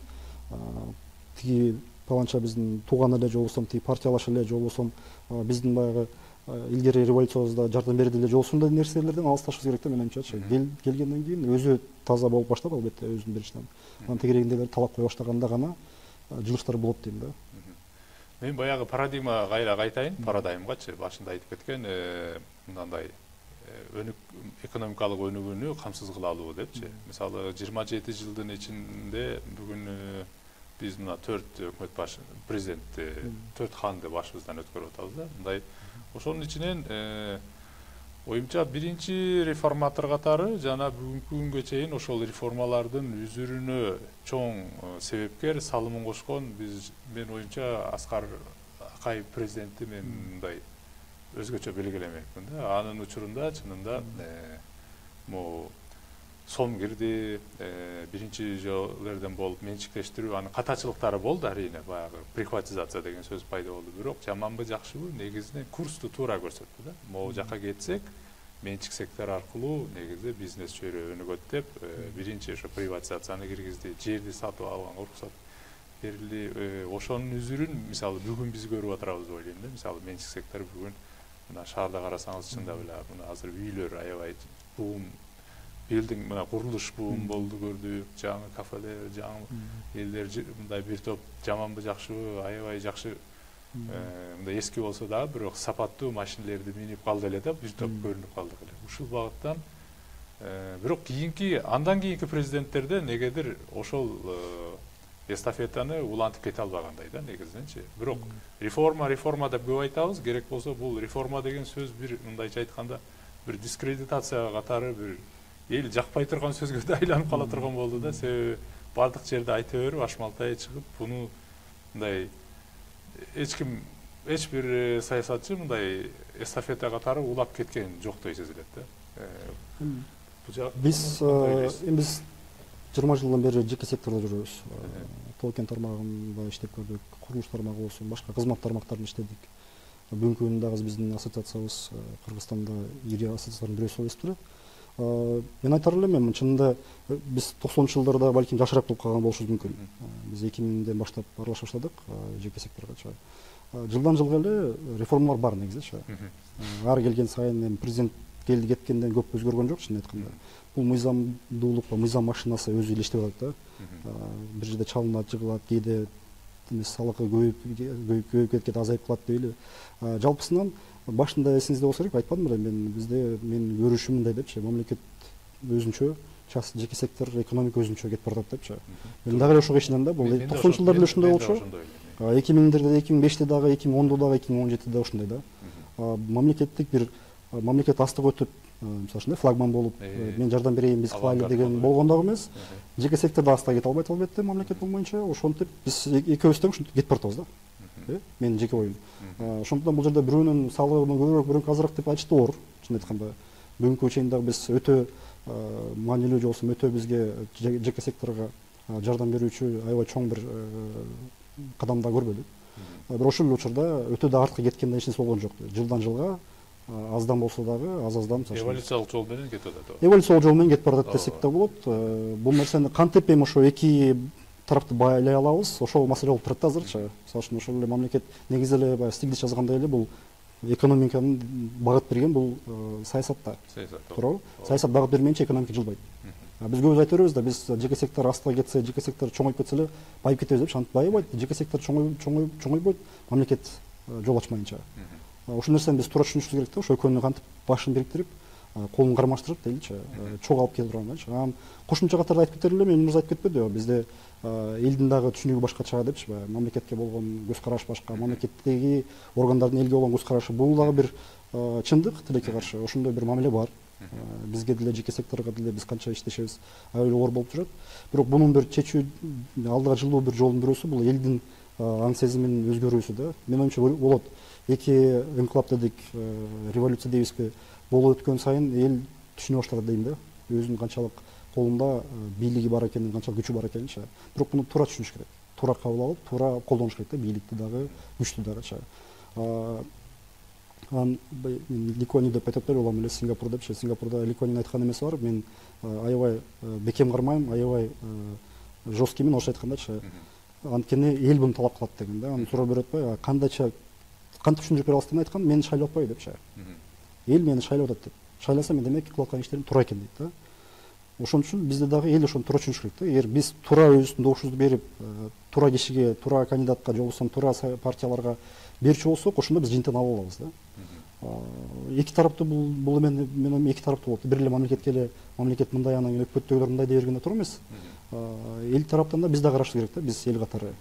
S2: тиги паланча биздин тууган эле, же болбосо тиги партиялаш эле, же болбосо биздин баягы илгери революциябызда жардам берди эле, же ошондой нерселерден алысташыбыз керек да, менимче. Келгенден кийин өзү таза болуп баштап, албетте өзүнүн беришинен. Анан тегерегиндегилер талап кое баштаганда гана жылыштар болот дейм да.
S1: Мен баягы парадигмага кайра кайтайын, парадаймгачы башында айтып кеткен, мындай экономикалык өнүгүүнү камсыз кыла алуу депчи. Мисалы 27 жылдын ичинде бүгүн биз мына 4 өкмөт башы, президентти 4 ханды башыбыздан өткөрүп атабыз да. Мындай ошонун ичинен оюмча биринчи реформатор катары жана бүгүнкү күнгө чейин ошол реформалардын үзүрүнө чоң себепкер, салымын кошкон мен оюмча Аскар Акаев президентти мен мындай өзгөчө белгилемекмин да. Анын учурунда чынында могу сом кирди, биринчи жолдордон болуп менчиктештирүү, анын катачылыктары болду арийне, баягы приватизация деген сөз пайда болду. Бирок жаманбы жакшыбы негизинен курсту туура көрсөттү да. Могу жака кетсек, менчик сектор аркылуу негизи бизнес чөйрө өнүгөт деп, биринчи ошо приватизацияны киргизди, жерди сатып алганга уруксат берилди. Ошонун үзүрүн мисалы бүгүн биз көрүп атабыз деп ойлойм да. Мисалы менчик сектор бүгүн мына шаарда карасаңыз чындап эле мына азыр үйлөр аябай буум, билдинг мына курулуш буум болду көрдүк, жаңы кафелер, жаңы элдер мындай бир топ жаманбы жакшыбы, аябай жакшы мындай эски болсо дагы бирок сапаттуу машинелерди минип калды эле да, бир топ көрүнүп калдык эле. Ушул багыттан бирок андан кийинки президенттерде негедир ошол эстафетаны улантып кете албагандай да негизиненчи. Бирок реформа деп көп айтабыз, керек болсо бул реформа деген сөз бир мындайча айтканда бир дискредитация катары бир эл жакпай турган сөзгө да айланып кала турган болду да. Себеби бардык жерде айта берип, ашмалтай чыгып, буну мындай эч бир саясатчы мындай эстафета катары улап кеткен жоктой сезилет да.
S2: Биз 20 жылдан бери жеке сектордо жүрөбүз. Тоо-кен тармагында иштеп көрдүк, курулуш тармагы болсун, башка кызмат тармактарында иштедик. Бүгүнкү күндө дагы биздин ассоциациябыз Кыргызстанда ири ассоциациялардын бирөөсү болуп эсептелет. Мен айтар элем, чынында биз 90-жылдарда балким жашыраак болуп калган болушубуз мүмкүн. Биз 2000ден баштап аралаша баштадык жеке секторго. Жылдан жылга эле реформалар бар негизи. Ар келген сайын президент келди кеткенден көп өзгөргөн жок, чын айтканда. Бул мыйзамдуулук, мыйзам машинасы өзү эле иштеп атат да. Бир жерде чалынат, жыгылат, кээде салыгы көбөйүп кетет, азайып калат дейли. Жалпысынан башында эсиңизде болсо керек, айтпадым беле мен көрүшүм мындай депчи, мамлекет өзүнчө, жеке сектор, экономика өзүнчө кетип баратат депчи. Мен дагы эле ошого ишенем да, бул 90 жылдар эле ушундай болчу. 2000-дерде, 2005-те дагы, 2010-да дагы, 2017-де ушундай да. Мамлекеттик бир мамлекет астыга өтүп, мисалы ушундай флагман болуп, мен жардам берейин, биз кылайлы деген болгондо эмес. Жеке секторда астыга кете албайт албетте, мамлекет болмоюнча. Ошентип биз экөөбүз тең ушинтип кетип баратабыз да. Менин жеке оюм. Ошондуктан бул жерде бирөөнүн салыгы көбүрөөк, бирөөнүкү азыраак деп айтыш туура. Чын айтканда, бүгүнкү чейин дагы биз өтө маанилүү же болбосо өтө бизге жеке секторго жардам берүүчү аябай чоң бир кадам да көрбөдүк. Бирок ошол учурда өтө да артка кеткенден эч нерсе болгон жок. Жылдан жылга аздан болсо дагы аз-аздан
S1: эволюциялык жол менен кетип атат.
S2: Эволюциялык жол менен кетип баратат десек да болот. Бул нерсени кантип эми ошо эки тарапты байлай алабыз, ошол маселе болуп турат азырчы. Мисалы үчүн ошол эле мамлекет негизи эле баягы Стиглиц жазгандай эле бул экономиканын багыт берген бул саясатта. Туурабы? Саясат багыт бермейинче экономика жылбайт. Биз көбүс айта беребиз да, биз жеке сектор астыга кетсе, жеке сектор чоңоюп кетсе эле байып кетебиз депчи. Антип байыбайт. Жеке сектор чоңойбойт, мамлекет жол ачмайынча. Ошол нерсени биз туура түшүнүшүбүз керек да, ошо экөөнү кантип башын бириктирип, колун кармаштырып дейличи, чогуу алып келип турганчы. Кошумча катарда айтып кетели эле, мен мурда айтып кетпедиби? Бизде элдин дагы түшүнүгү башкача депчи, мамлекетке болгон көз караш башка, мамлекеттеги органдардын элге болгон көз карашы, бул дагы бир чындык, тилекке каршы ошондой бир мамиле бар. Бизге деле жеке секторго деле биз канча иштешебиз, аябай оор болуп жүрөт. Бирок мунун бир чечүү, алдыга жылуу бир жолдун бирөөсү бул элдин аң сезиминин өзгөрүүсү да. Менин оюмча болот. Эки инкылап дедик, революция дейбизби, болуп өткөн сайын эл түшүнө баштаган дейм да. Өзүнүн канчалык колунда бийлиги бар экенин, канчалык күчү бар экенинчи. Бирок муну туура түшүнүш керек. Туура кабыл алып, туура колдонуш керек да, бийликти дагы, күчтү дагычы. Ликуани деп айтып болом эле, Сингапур депчи. Сингапурда Ликуанин айткан эмеси бар. Мен аябай бекем кармайм, аябай жесткиймин ошо айткандачы. Анткени эл буну талап кылат деген да. Аны суроо берип атпайбы? Кантип түшүндүрүп бере аласыз деп айткан, мени шайлап атпайбы депчи. Эл мени шайлап атат деп. Шайласа мен демек кылып аткан иштерим туура экен дейт да. Ошон үчүн бизде дагы эл ошону туура түшүнүш керек да. Эгер биз туура өзүбүздүн добушубузду берип, туура кишиге, туура кандидатка, же болбосо туура партияларга берчү болсок, ошондо биз жыйынтыгын ала алабыз да. Эки тараптуу бул мен эки тараптуу болот. Бир эле мамлекетке эле мамлекет мындай, анан өкмөттөгүлөр мындай дей бергенде туура эмес. Эл тараптан да биз да карашыбыз керек да. Биз эл катары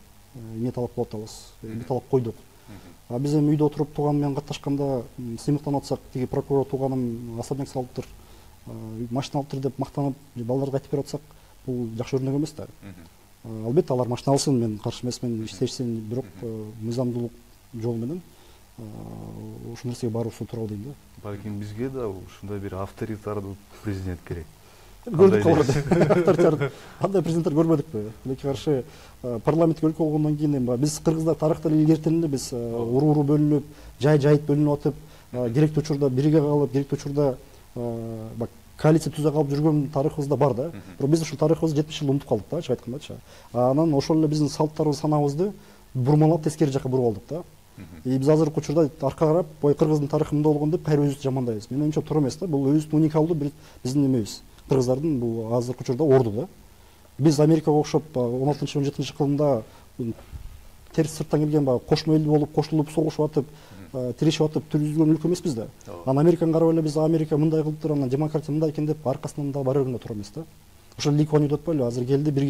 S2: эмне талап кылып атабыз, эмне талап койдук. Биз эми үйдө отуруп тууганым менен катташканда сыймыктанып атсак, тиги прокурор тууганым особняк салыптыр, машина алыптыр деп мактанып, балдарга айтып берип атсак, бул жакшы өрнөк эмес да. Албетте алар машина алсын, мен каршы эмесмин, иштешсин, бирок мыйзамдуулук жол менен ушул нерсеге баруусу тууралуу дейм да.
S4: Балким бизге да ушундай бир авторитардуу президент керек.
S2: Көрдүк авторитар. Андай президенттер көрбөдүкпү? Тилекке каршы парламентке өлкө болгондон кийин эми биз кыргыздар тарыхта илгертен эле биз уруу бөлүнүп, жайыт бөлүнүп атып, керектүү учурда бирге калып, керектүү учурда коалиция түзө калып жүргөн тарыхыбызда бар да. Бирок биз ушул тарыхыбызды 70 жыл унутуп калдык да, ачык айткандачы. Анан ошол эле биздин салттарыбыз, санаабызды бурмалап тескери жака буруп алдык да. Биз азыркы учурда арка карап, кыргыздын тарыхы мындай болгон деп кайра өзүбүздү жамандайбыз. Менин оюмча туура эмес да. Бул өзүбүздүн уникалдуу биздин эмебиз. Кыргыздардын бул азыркы учурда орду да. Биз Америкага окшоп 16-17 кылымда терс сырттан келген кошмо эл болуп, кошулуп, согушуп атып, тирешип атып түзүлгөн өлкө эмеспиз да. Анан Американы карап эле биз Америка мындай кылыптыр, анан демократия мындай экен деп аркасынан да бара бергенде туура эмес да. Ошол Ликуани деп атпайлы, азыр келди, бир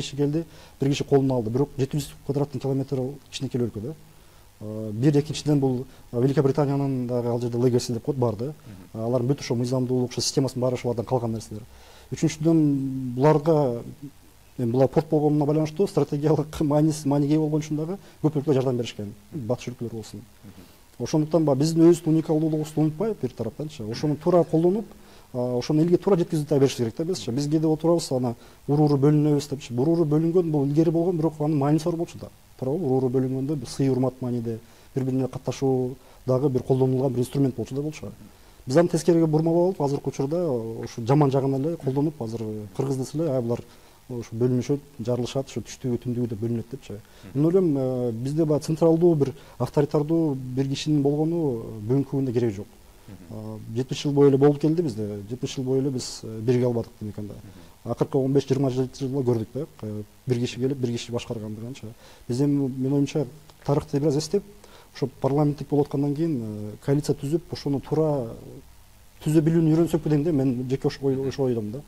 S2: киши колуна алды. Бирок 700 квадраттык километр кичинекей өлкө да. Бир экинчиден бул Великобританиянын дагы ал жерде легаси деп коет бар да. Алардын бүт ошо мыйзамдуулук, ошо системасынын баары ошолордон калган нерселер. Үчүнчүдөн буларга булар порт болгонуна байланыштуу стратегиялык мааниге болгон үчүн дагы көп өлкөлөр жардам беришкен. Батыш өлкөлөр болсун. Ошондуктан биздин өзүбүздүн уникалдуулугубузду унутпай, бир тараптанчы, ошону туура колдонуп, ошону элге туура жеткизип да беришибиз керек да бизчи. Биз кээде отурабыз, ана уруу бөлүнөбүз депчи. Уруу бөлүнгөн бул илгери болгон, бирок анын мааниси бар болчу да. Туурабы? Уруу бөлүнгөндө сый урмат мааниде, бири-бирине катташуу дагы бир колдонулган бир инструмент болчу да болчу. Биз аны тескериге бурмалап алып, азыркы учурда ушу жаман жагын эле колдонуп, азыр кыргыз десе эле булар ушу бөлүнүшөт, жарылышат, ушу түштүгү, түндүгү деп бөлүнөт депчи. Мен ойлойм, бизде баягы централдуу бир авторитардуу бир кишинин болгону бүгүнкү күндө кереги жок. жетимиш жыл бою эле болуп келди бизде, 70 жыл бою эле биз бирге албадык демек анда. Акыркы 15-20 жылда көрдүк да, бир киши келип, бир киши башкаргандыгынча. Биз эми менин оюмча тарыхты бир аз эстеп, ошо парламенттик болуп аткандан кийин коалиция түзүп, ошону туура түзө билүүнү үйрөнсөкпү дейм да, мен жеке ошо ойдом да.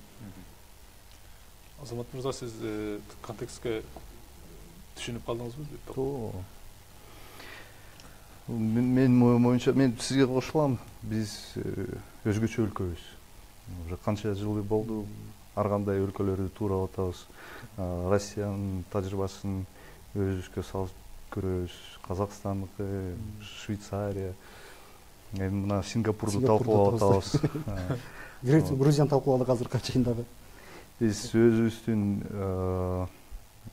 S1: Азамат мырза, сиз контекстке түшүнүп калдыңызбы?
S4: Мен оюмча мен сизге кошулам. Биз өзгөчө өлкөбүз. Уже канча жыл болду, ар кандай өлкөлөрдү туурап атабыз. Россиянын тажрыйбасын өзүбүзгө салып көрөбүз. Казакстандыкы, Швейцария, эми мына Сингапурду талкуулап атабыз.
S2: Грузияны талкууладык азыркы чейин дагы.
S4: Биз өзүбүздүн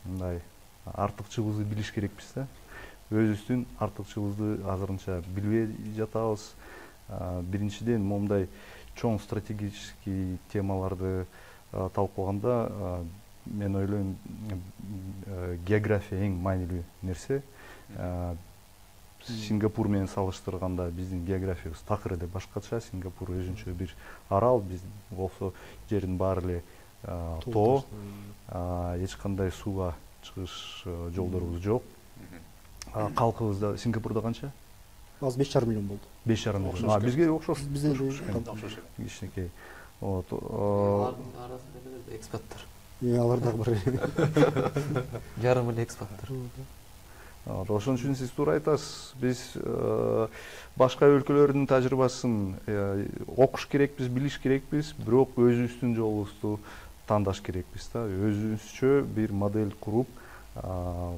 S4: мындай артыкчылыгыбызды билиш керекпиз да. Өзүбүздүн артыкчылыгыбызды азырынча билбей жатабыз. Биринчиден, момундай чоң стратегический темаларды талкуулаганда мен ойлойм, география эң маанилүү нерсе. Сингапур менен салыштырганда биздин географиябыз такыр эле башкача. Сингапур өзүнчө бир арал, биз болсо жердин баары эле тоо, эч кандай сууга чыгыш жолдорубуз жок. Калкыбыз да Сингапурда канча?
S2: Азыр 5,5 миллион болду.
S4: 5,5 миллион. Бизге окшош.
S2: Бизде
S4: Кичинекей.
S3: Алардын арасында эмелер экспаттар.
S2: Алар дагы бир
S3: Жарым эле экспаттар.
S4: Ошон үчүн сиз туура айтасыз. Биз башка өлкөлөрдүн тажрыйбасын окуш керекпиз, билиш керекпиз, бирок өзүбүздүн жолубузду тандаш керекпиз да. Өзүбүзчө бир модель куруп,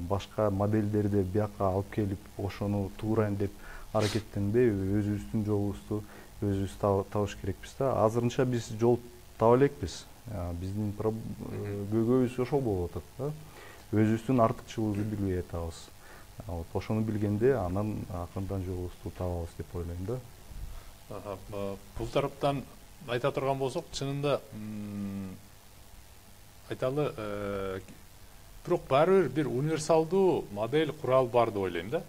S4: башка модельдерди бияка алып келип, ошону туурайын деп аракеттенбей, өзүбүздүн жолубузду өзүбүз табыш керекпиз да. Азырынча биз жол таба элекпиз. Биздин көйгөйүбүз ошол болуп атат да. Өзүбүздүн артыкчылыгыбызды билбей атабыз. Ошону билгенде анан акырындан жолубузду табабыз деп ойлойм да.
S1: Бул тараптан айта турган болсок, чынында айталы, бирок баары бир универсалдуу модель курал бар деп ойлойм да.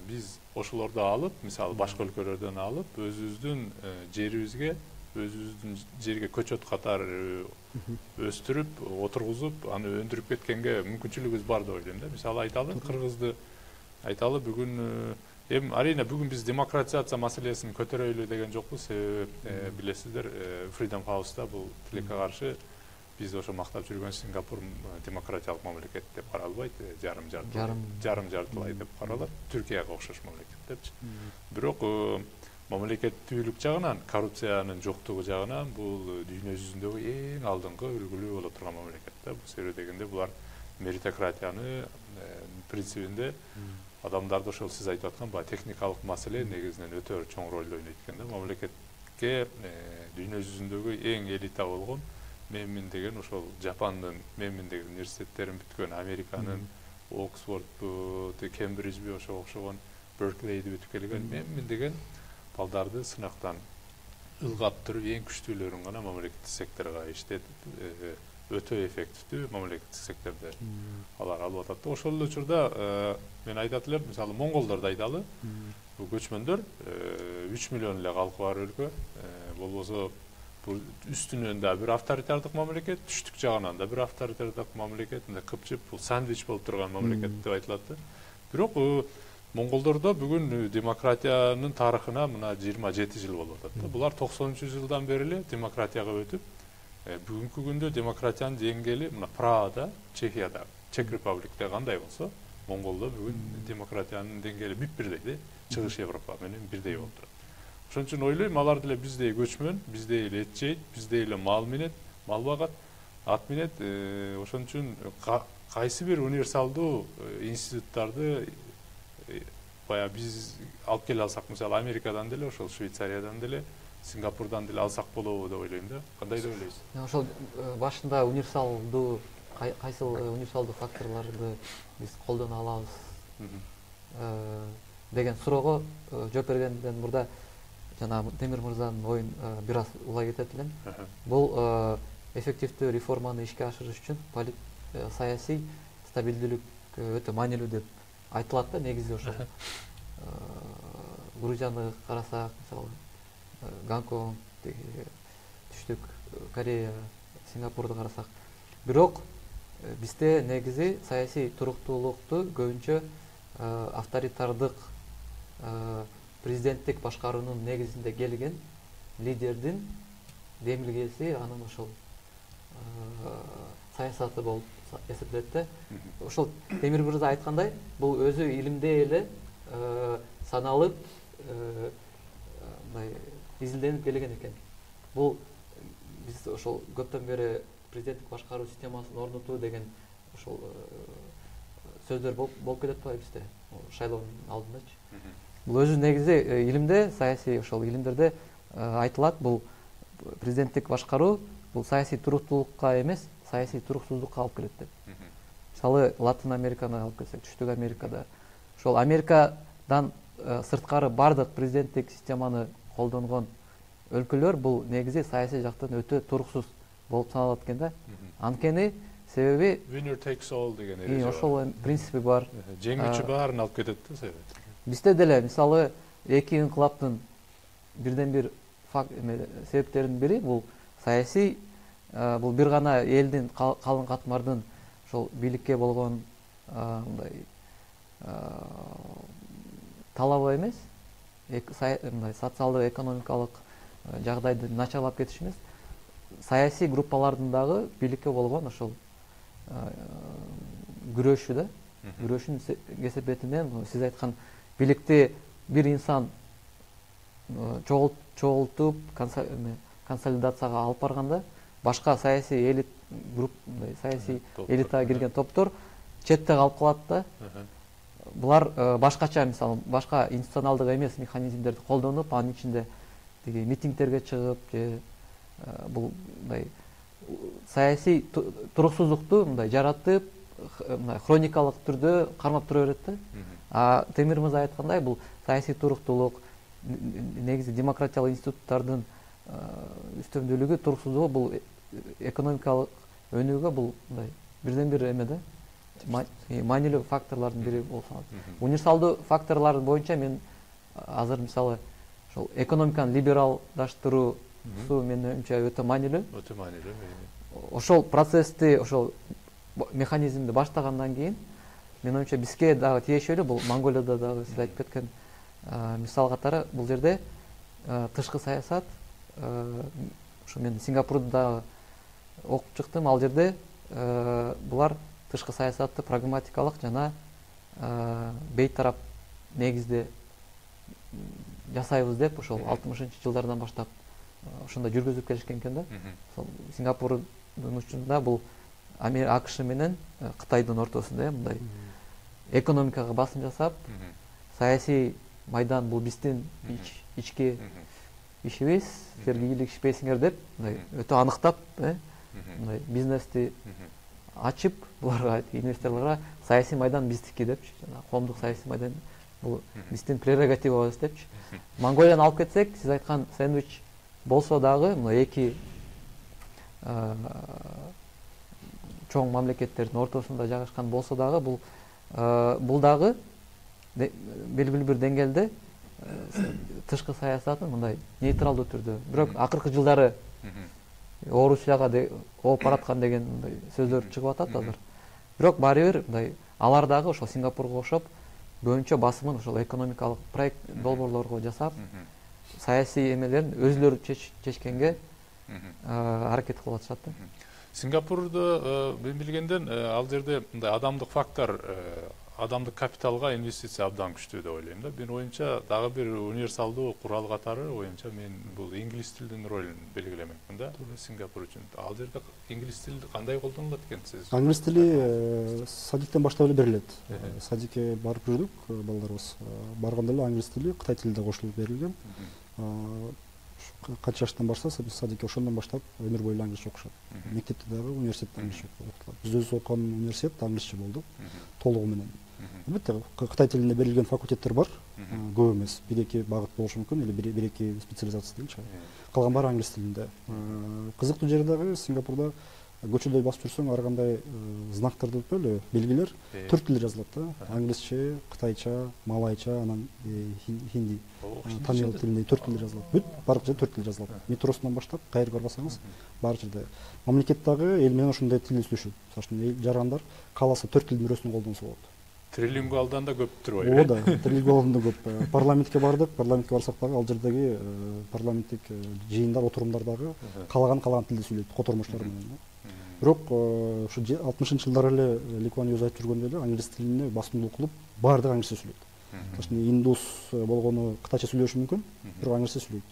S1: Биз ошолорду алып, мисалы башка өлкөлөрдөн алып, өзүбүздүн жерибизге, өзүбүздүн жерге көчөт катары өстүрүп, отургузуп, аны өндүрүп кеткенге мүмкүнчүлүгүбүз бар деп ойлойм да. Мисалы айталы, Кыргызды айталы, бүгүн эми арийне бүгүн биз демократизация маселесин көтөрөйлү деген жокпуз. Себеби билесиздер, Freedom House'да бул тилекке каршы биз ошо мактап жүргөн Сингапур демократиялык мамлекет деп каралбайт, жарым жартылай деп каралат, Түркияга окшош мамлекет депчи. Бирок мамлекеттүүлүк жагынан, коррупциянын жоктугу жагынан бул дүйнө жүзүндөгү эң алдыңкы үлгүлүү боло турган мамлекет да. Бул себептен дегенде булар меритократияны принцибинде адамдарды ошол сиз айтып аткан баягы техникалык маселе негизинен өтө чоң ролду ойнойт экен да. Мамлекетке дүйнө жүзүндөгү эң элита болгон менмин деген ошол Жапандын менмин деген университеттерин бүткөн, Американын Оксфордбу, Кембриджби ошого окшогон Берклейди бүтүп келген менмин деген балдарды сынактан ылгап туруп эң күчтүүлөрүн гана мамлекеттик секторго иштетип, өтө эффективдүү мамлекеттик сектордо алар алып атат. Ошол эле учурда мен айтат элем, мисалы монголдорду айталы, бул көчмөндөр 3 миллион эле калкы бар өлкө, болбосо бул үстүнөн да бир авторитардык мамлекет, түштүк жагынан да бир авторитардык мамлекет, мындай кыпчып, бул сандвич болуп турган мамлекет деп айтылат да. Бирок монголдордо бүгүн демократиянын тарыхына мына 27 жыл болуп атат да. Булар 90-жылдан бери эле демократияга өтүп, бүгүнкү күндө демократиянын деңгээли мына Прагада, Чехияда, Чек Републикте кандай болсо, Монголдо бүгүн демократиянын деңгээли бүт-бирдей да, Чыгыш Европа менен бирдей болуп турат. Ошон үчүн ойлойм, алар деле биздей көчмөн, биздей эле эт жейт, биздей эле мал менет, мал багат, ат менет. Ошон үчүн кайсы бир универсалдуу институттарды баягы биз алып келе алсак, мисалы Америкадан деле, ошол Швейцариядан деле, Сингапурдан деле алсак болобу деп ойлойм да. Кандай деп ойлойсуз?
S3: Ошол башында универсалдуу кайсыл универсалдуу факторлорду биз колдоно алабыз деген суроого жооп бергенден мурда жана Темир мырзанын оюн бир аз улай кетет элем. Бул эффективдүү реформаны ишке ашырыш үчүн саясий стабилдүүлүк өтө маанилүү деп айтылат да. Негизи ошол Грузияны карасак, мисалы Гонконг, Түштүк Корея, Сингапурду карасак. Бирок бизде негизи саясий туруктуулукту көбүнчө авторитардык президенттик башкаруунун негизинде келген лидердин демилгеси, анын ошол саясаты болуп эсептелет да. Ошол Темир мырза айткандай, бул өзү илимде эле саналып, мындай изилденип келген экен. Бул биз ошол көптөн бери президенттик башкаруу системасын орнотуу деген ошол сөздөр болуп келет да бизде, шайлоонун алдындачы. Бул өзү негизи илимде, саясий ошол илимдерде айтылат, бул президенттик башкаруу бул саясий туруктуулукка эмес, саясий туруксуздукка алып келет деп. Мисалы Латын Американы алып келсек, Түштүк Америкада ошол Америкадан сырткары бардык президенттик системаны колдонгон өлкөлөр бул негизи саясий жактан өтө туруксуз болуп саналат экен да. Анткени себеби
S1: winner takes all деген эреже бар.
S3: Ошол принципи бар.
S1: Жеңүүчү баарын алып кетет да себеби.
S3: Бизде деле мисалы эки инкылаптын бирден бир себептеринин бири бул саясий, бул бир гана элдин, калың катмардын ошол бийликке болгон мындай талабы эмес, мындай социалдык, экономикалык жагдайды начарлап кетиш эмес, саясий группалардын дагы бийликке болгон ошол күрөшү да, күрөшүн кесепетинен сиз айткан бийликти бир инсан чогултуп консолидацияга алып барганда башка саясий саясий элитага кирген топтор четте калып калат да. Булар башкача, мисалы, башка институционалдык эмес механизмдерди колдонуп, анын ичинде тиги митингтерге чыгып, же бул мындай саясий туруксуздукту мындай жаратып, мындай хроникалык түрдө кармап тура берет да. А Темир мырза айткандай, бул саясий туруктуулук, негизи демократиялык институттардын үстөмдүүлүгү, туруксуздугу бул экономикалык өнүгүүгө бул мындай бирден бир эме да, маанилүү факторлордун бири болуп саналат. Универсалдуу факторлор боюнча мен азыр мисалы ошол экономиканы либералдаштыруусу менин оюмча өтө маанилүү.
S1: Өтө маанилүү.
S3: Ошол процессти, ошол механизмди баштагандан кийин менин оюмча бизге дагы тиешелүү, бул Монголияда дагы сиз айтып кеткен мисал катары, бул жерде тышкы саясат, ошо мен Сингапурда дагы окуп чыктым, ал жерде булар тышкы саясатты прагматикалык жана бейтарап негизде жасайбыз деп ошол 60-жылдардан баштап ошондой жүргүзүп келишкен экен да. Ошол Сингапурдун учурунда бул АКШ менен Кытайдын ортосунда мындай экономикага басым жасап, саясий майдан бул биздин ички ишибиз, силерге ийгилигишпейсиңер деп мындай өтө аныктап, мындай бизнести ачып, буларга инвесторлорго саясий майдан биздики депчи, жана коомдук саясий майдан бул биздин прерогативабыз депчи. Монголияны алып кетсек, сиз айткан сэндвич болсо дагы, мына эки чоң мамлекеттердин ортосунда жайгашкан болсо дагы, бул дагы белгилүү бир деңгээлде тышкы саясатын мындай нейтралдуу түрдө, бирок акыркы жылдары Орусияга ооп бараткан деген мындай сөздөр чыгып атат азыр. Бирок баары бир мындай алар дагы ошол Сингапурга окшоп көбүнчө басымын ошол экономикалык проект долбоорлорго жасап, саясий эмелерин өзүлөрү чечкенге аракет кылып атышат да.
S1: Сингапурда мен билгенден ал жерде мындай адамдык фактор, адамдык капиталга инвестиция абдан күчтүү деп ойлойм да. Менин оюмча дагы бир универсалдуу курал катары оюмча мен бул инглиз тилинин ролун белгилемекмин да. Сингапур үчүн ал жерде инглиз тили кандай колдонулат экен сиз?
S2: Англис тили садиктен баштап эле берилет. Садикке барып жүрдүк балдарыбыз. Барганда эле англис тили, кытай тили да кошулуп берилген. Канча жаштан баштаса садикке ошондон баштап өмүр бою англисче окушат. Мектепте дагы, университетте англисче окутулат. Биз өзүбүз окуган университет англисче болду, толугу менен. Албетте, Кытай тилинде берилген факультеттер бар, көп эмес, бир-эки багыт болушу мүмкүн, или бир-эки специализация дейинчи. Калган баары англис тилинде. Кызыктуу жери дагы Сингапурда көчөдө басып жүрсөң, ар кандай знактарды эле белгилер төрт тилде жазылат да. Англисче, кытайча, малайча, анан хинди. тамил тилинде 4 тилде жазылат. Бүт барлык жерде 4 тилде жазылат. Метросунан баштап кайерге барбасаңыз барлык жерде мамлекет дагы эл менен ошондой тилде сүйлөшөт. Мисалы үчүн жарандар кааласа 4 тилдин бирөөсүн колдонсо болот.
S1: Трилингвалдан да көп турбайбы?
S2: Ооба, трилингвалдан да көп. Парламентке бардык, парламентке барсак дагы ал жердеги парламенттик жыйындар, отурумдар дагы каалаган тилде сүйлөйт, котормуштар менен. Бирок ушу 60-жылдары эле Ли Куан Ю айтып жүргөндөй эле англис тилине басымдуулук кылып, баардыгы англисче сүйлөйт. Мисалы индус болгону кытайча сүйлөшү мүмкүн, бирок англисче сүйлөйт.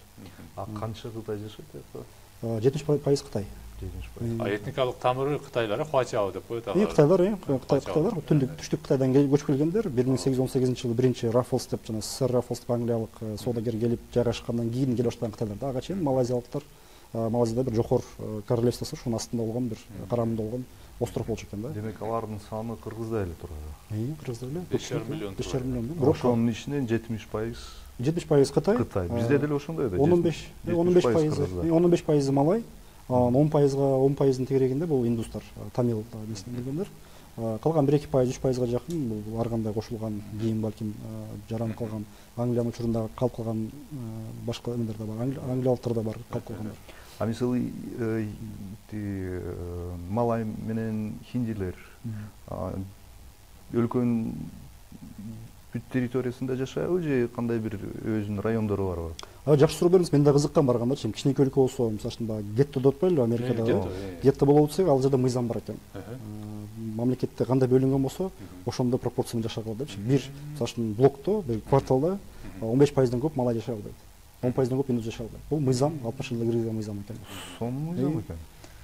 S4: А канча Кытай жашайт?
S2: 70% Кытай.
S1: Этникалык тамыры Кытайлар, Хуачао деп коет.
S2: Кытайлар, Кытайлар түштүк Кытайдан көчүп келгендер. 1818-жылы биринчи Раффлс деп жана сэр Раффлс деп англиялык соодагер келип жайгашкандан кийин келип баштаган Кытайлар. Ага чейин малайзиялыктар Малайзияда бир жогор королевствосу, ошонун астында болгон бир карамында болгон остров болчу экен да.
S4: Демек алардын саны кыргыздай эле турат.
S2: Кыргыздар эле
S1: 5,5 миллион.
S2: 5,5 миллион.
S4: Бирок ошонун ичинен 70%
S2: Кытай.
S4: Кытай. Бизде деле ошондой да.
S2: 15% Малай, 10%дын тегерегинде бул индустар, тамил несинен келгендер. Калган 1-2%, 3%га жакын бул ар кандай кошулган кийин балким жаранып калган Англиянын учурунда калып калган башка эмелер да бар. Англиялыктар да бар калып калгандар.
S4: А мисалы Малай менен хиндилер өлкөнүн бүт территориясында жашайбы же кандай бир өзүнүн райондору барбы?
S2: Жакшы суроо бердиңиз. Мен да кызыккан барганда, кичинекей өлкө болсо, мисалы үчүн гетто деп атпайлыбы Америкада? Гетто болуп атса, ал жерде мыйзам бар экен. Мамлекетте кандай бөлүнгөн болсо, ошондой пропорцияда жашай алат депчи. Бир, мисалы үчүн блокто, бир кварталда 15%дан көп малай жашай албайт. 10%дан көп индус жашай албайт. Бул мыйзам 60-жылда киргизген мыйзам экен.
S4: Сонун мыйзам экен.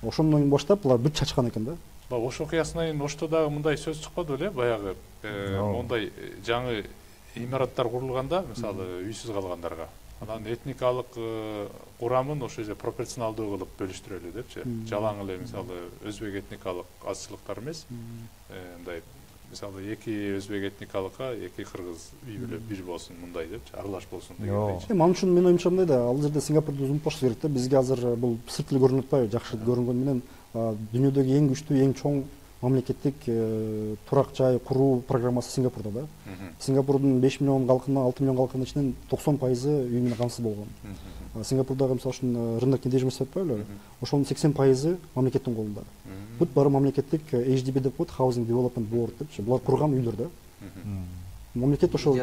S2: Ошондон баштап булар бүт чачкан экен да.
S1: Ош окуясынан кийин Ошто дагы мындай сөз чыкпады беле? Баягы мондай жаңы имараттар курулганда, мисалы үйсүз калгандарга, анан этникалык курамын ошо же пропорционалдуу кылып бөлүштүрөлү депчи. Жалаң эле мисалы өзбек этникалык азчылыктар эмес, мындай мисалы эки өзбек этникалыкка эки кыргыз үй бүлө бир болсун мындай депчи, аралаш болсун дегендейчи.
S2: Ман үчүн менин оюмча мындай да, ал жерде Сингапурду унутпашыбыз керек да. Бизге азыр бул сырт эле көрүнүп атпайбы? Жакшы көрүнгөнү менен дүйнөдөгү эң күчтүү, эң чоң мамлекеттик турак жай куруу программасы Сингапурда да. Сингапурдун 5 миллион калкынын 6 миллион калкынын ичинен 90% үй менен камсыз болгон. Сингапурдагы мисалы үчүн рынок недвижимости деп атпайлыбы? Ошонун 80% мамлекеттин колунда. Бүт баары мамлекеттик HDB деп коет, Housing Development Board депчи. Булар курган үйлөр да. Мамлекет ошол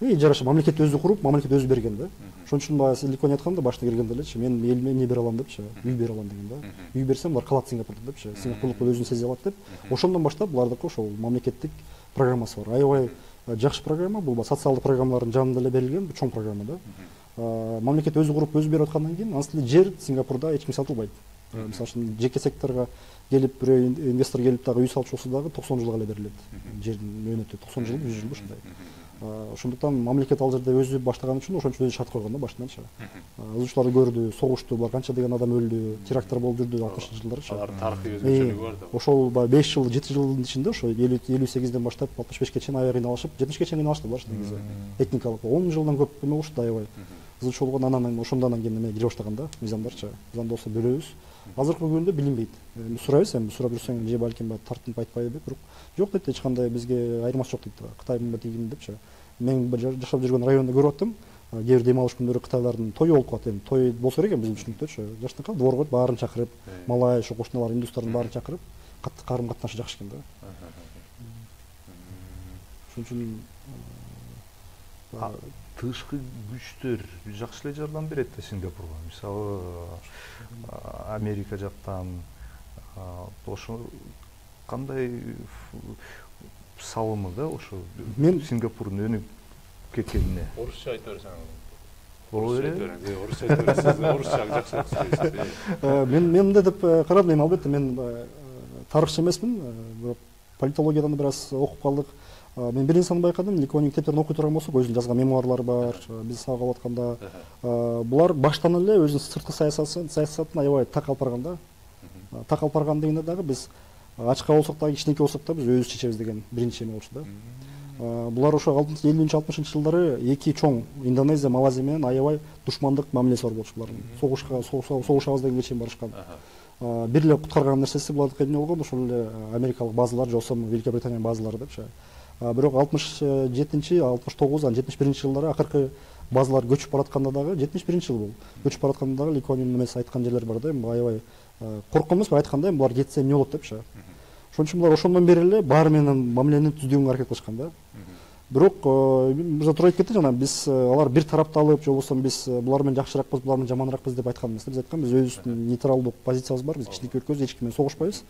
S2: ижарачы мамлекет өзү куруп, мамлекет өзү берген да. Ошон үчүн баягы Ли Куан айтканда башта киргенде элечи, мен элиме эмне бере алам депчи, үй бере алам деген да. Үй берсем булар калат Сингапурда депчи. Сингапурлук өзүн сезе алат деп. Ошондон баштап булардыкы ошол мамлекеттик программасы бар. Аябай жакшы программа, бул социалдык программалардын жанында эле берилген чоң программа да. Мамлекет өзү куруп, өзү берип аткандан кийин анысы жер Сингапурда эч ким сатылбайт. Мисалы үчүн жеке секторго келип бирөө инвестор келип дагы үй салчу болсо дагы 90 жылга эле берилет. Жердин мөөнөтү 90 жыл, 100 жыл ушундай. Ошондуктан мамлекет ал жерде өзү баштаган үчүн ошон үчүн өзү шарт койгон да баштанчы. Ызычууларды көрдү, согушту, булар канча деген адам өлдү, теракттар болуп жүрдү 60-жылдарчы.
S1: Алардын тарыхый өзгөчөлүгү бар да.
S2: Ошол 5 жыл, 7 жылдын ичинде ошо 58ден баштап 65ке чейин аябай кыйналышып, 70ке чейин кыйналышты булар негизи. Этникалык 10 жылдан көп эме болушту аябай. Ызычуу болгон анан ошондон кийин эме кире баштаган да, мыйзамдарчы. Мыйзамды болсо бөлөбүз. Азыркы күндө билинбейт. Сурайбыз, эми сурап жүрсөң же балким тартынып айтпайбы, бирок жок дейт, эч кандай бизге айырмасы жок дейт. Кытай менен тигин депчи. Мен жашап жүргөн райондо көрүп аттым. Кээ бир дем алыш күндөрү кытайлардын тою болуп калат. Эми той болсо керек биздин түшүнүктөчү. Жаштыкка двор коюп, баарын чакырып, малай, ошо кошуналар, индустардын баарын чакырып, катты карым катнашы жакшы экен да. Ошон үчүн
S4: тышкы күчтөр жакшы эле жардам берет да Сингапурга. Мисалы Америка жактан ошо кандай салымы да ошо Сингапурдун өнүгүп кеткенине.
S1: Орусча айта берсең.
S4: Орусча
S1: айта берсең, орусча жакшыраак сөйлөйсүз.
S2: Мен мындай деп карадым, албетте мен тарыхчы эмесмин, бирок политологиядан бир аз окуп калдык. Мен бир нерсени байкадым, Ли Куан Ю китептерин окуй турган болсок, өзүнүн жазган мемуарлары бар, биз сабак алып атканда, булар баштан эле өзүнүн сырткы саясатын аябай так алып барган да. Так алып барган дегенде дагы биз ачка болсок дагы, кичинекей болсок да биз өзүбүз чечебиз деген биринчи эме болчу да. Булар ошо 50-60-жылдары эки чоң Индонезия, Малайзия менен аябай душмандык мамилеси бар болчу булардын. Согушабыз дегенге чейин барышкан. Бир эле куткарган нерсеси булардыкы эмне болгон, ошол эле америкалык базалар же болбосо Великобританиянын базалары депчи. Бирок 67-69, 71-жылдары акыркы базалар көчүп баратканда дагы 71 жыл бул көчүп баратканда дагы Ли Куан Юн эмес айткан жерлер бар да, эми аябай корккон эмес, айтканда эми булар кетсе эмне болот депчи. Ошон үчүн булар ошондон бери эле баары менен мамилени түздүгөнгө аракет кылышкан да. Бирок мырза туура айтып кетти жана биз алар бир тарапталып же болбосо биз булар менен жакшыракпыз, булар менен жаманыракпыз деп айткан эмес. Биз айткан биз өзүбүздүн нейтралдык позициябыз бар, биз кичинекей өлкөбүз, эч ким менен согушпайбыз,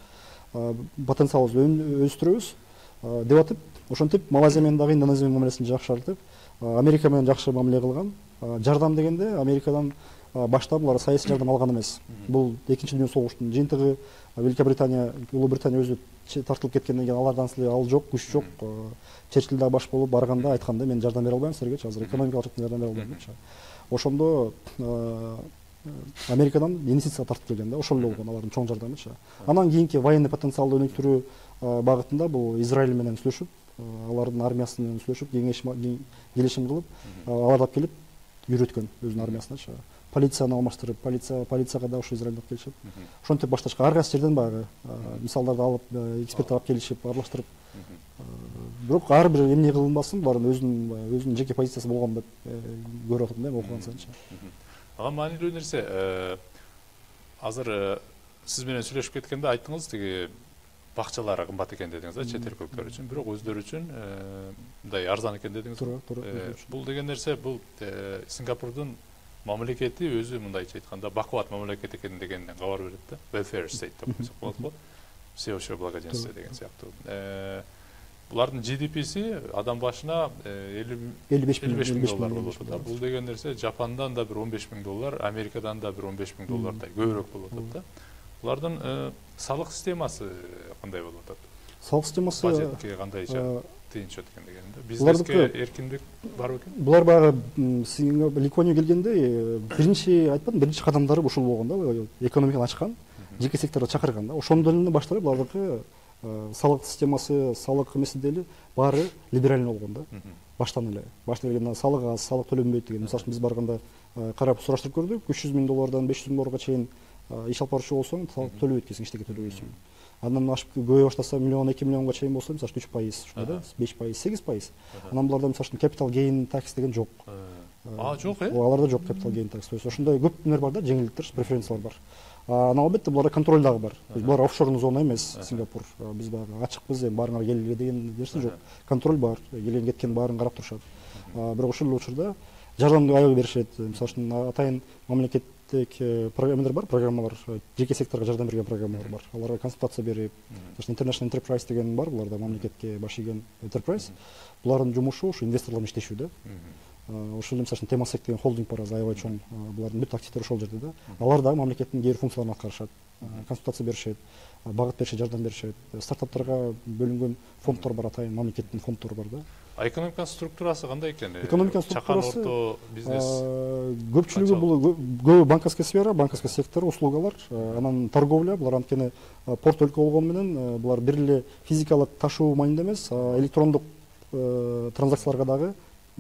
S2: потенциалыбызды өстүрөбүз деп атып, ошентип Малайзия менен дагы Индонезия менен мамилесин жакшыртып, Америка менен жакшы мамиле кылган. Жардам дегенде Америкадан башта булар саясий жардам алган эмес. Бул экинчи дүйнөлүк согуштун жыйынтыгы. Великобритания, Улуу Британия өзү тартылып кеткенден кийин алардан силе ал жок, күч жок. Черчилль дагы баш болуп барганда айтканда мен жардам бере албайм силерге, азыр экономикалык жактан жардам бере албайм депчи. Ошондо Америкадан инвестиция тартып келген да, ошол эле болгон алардын чоң жардамычы. Анан кийинки военный потенциалды өнүктүрүү багытында бул Израиль менен сүйлөшүп, алардын армиясы менен сүйлөшүп, келишим кылып, аларды алып келип үйрөткөн өзүнүн армиясыначы. Полицияны алмаштырып, полицияга да ошо Израиль алып келишип, ошентип башташкан ар кайсы жерден баягы мисалдарды алып, эксперттер алып келишип, аралаштырып. Бирок ар бир эмне кылынбасын, булардын өзүнүн жеке позициясы болгон деп көрүп атам да, окуган сайынчы.
S1: Ага маанилүү нерсе, азыр сиз менен сүйлөшүп кеткенде айттыңыз, тиги бакчалары кымбат экен дедиңиз да, чет өлкөлөр үчүн, бирок өздөрү үчүн мындай арзан экен дедиңиз.
S2: Туура.
S1: Бул деген нерсе, бул Сингапурдун мамлекети өзү мындайча айтканда бакубат мамлекет экени дегенден кабар берет да. Welfare state деп койсок болот го. Всеобщее благоденствие деген сыяктуу. Булардын GDP-си адам башына 55 миң доллар болот да. Бул деген нерсе Жапандан да бир 15 миң доллар, Америкадан да бир 15 миң доллардай көбүрөөк болуп атат да. Булардын салык системасы кандай болуп атат?
S2: Салык системасы
S1: бажетке кандайча тыйынча экен дегенде. Бизнеске эркиндик бар экен?
S2: Булар баягы Ли Куан Ю келгенде биринчи айтпадым, биринчи кадамдары ушул болгон да, экономиканы ачкан, жеке секторду чакырган да. Ошондон эле башталып булардыкы салык системасы, салык эмеси деле баары либеральный болгон да. Баштан эле. Башта келгенде салык аз, салык төлөнбөйт деген. Мисалы үчүн биз барганда карап сураштырып көрдүк, 300 миң доллардан 500 миң долларга чейин иш алып баруучу болсоң, салык төлөбөйт экенсиң, эчтеке төлөбөйсүң. Андан ашып көбөйө баштаса миллион, 2 миллионго чейин болсо, мисалы 3%, ушундай да, 5%, 8%. Анан буларда мисалы үчүн capital gain tax деген жок.
S1: Жок,
S2: Аларда жок capital gain tax. То есть ошондой көп нер бар да, жеңилдиктер, преференциялар бар. Анан албетте буларда контроль дагы бар. Булар офшорный зона эмес, Сингапур. Биз баягы ачыкпыз, эми баарыңар келгиле деген нерсе жок. Контроль бар, келген кеткен баарын карап турушат. Бирок ошол эле учурда жардамды аябай беришет. Мисалы үчүн атайын мамлекеттик программалар бар, программалар, жеке секторго жардам берген программалар бар. Аларга консультация берип, International Enterprise деген бар, буларда мамлекетке баш ийген Enterprise. Булардын жумушу ушу инвесторлор менен иштешүү да. Ошол эле мисалы үчүн Temasek деген холдинг бар, аябай чоң. Булардын бүт активдери ошол жерде да. Алар дагы мамлекеттин кээ бир функцияларын аткарышат. Консультация беришет, багыт беришет, жардам беришет. Стартаптарга бөлүнгөн фонддор бар, атайын мамлекеттин фонддору бар да.
S1: Экономиканын структурасы кандай экен?
S2: Экономиканын
S1: структурасы чакан орто бизнес.
S2: Көпчүлүгү бул көбү банковский сфера, банковский сектор, услугалар, анан торговля. Булар анткени порт өлкө болгону менен булар бир эле физикалык ташуу маанинде эмес, электрондук транзакцияларга дагы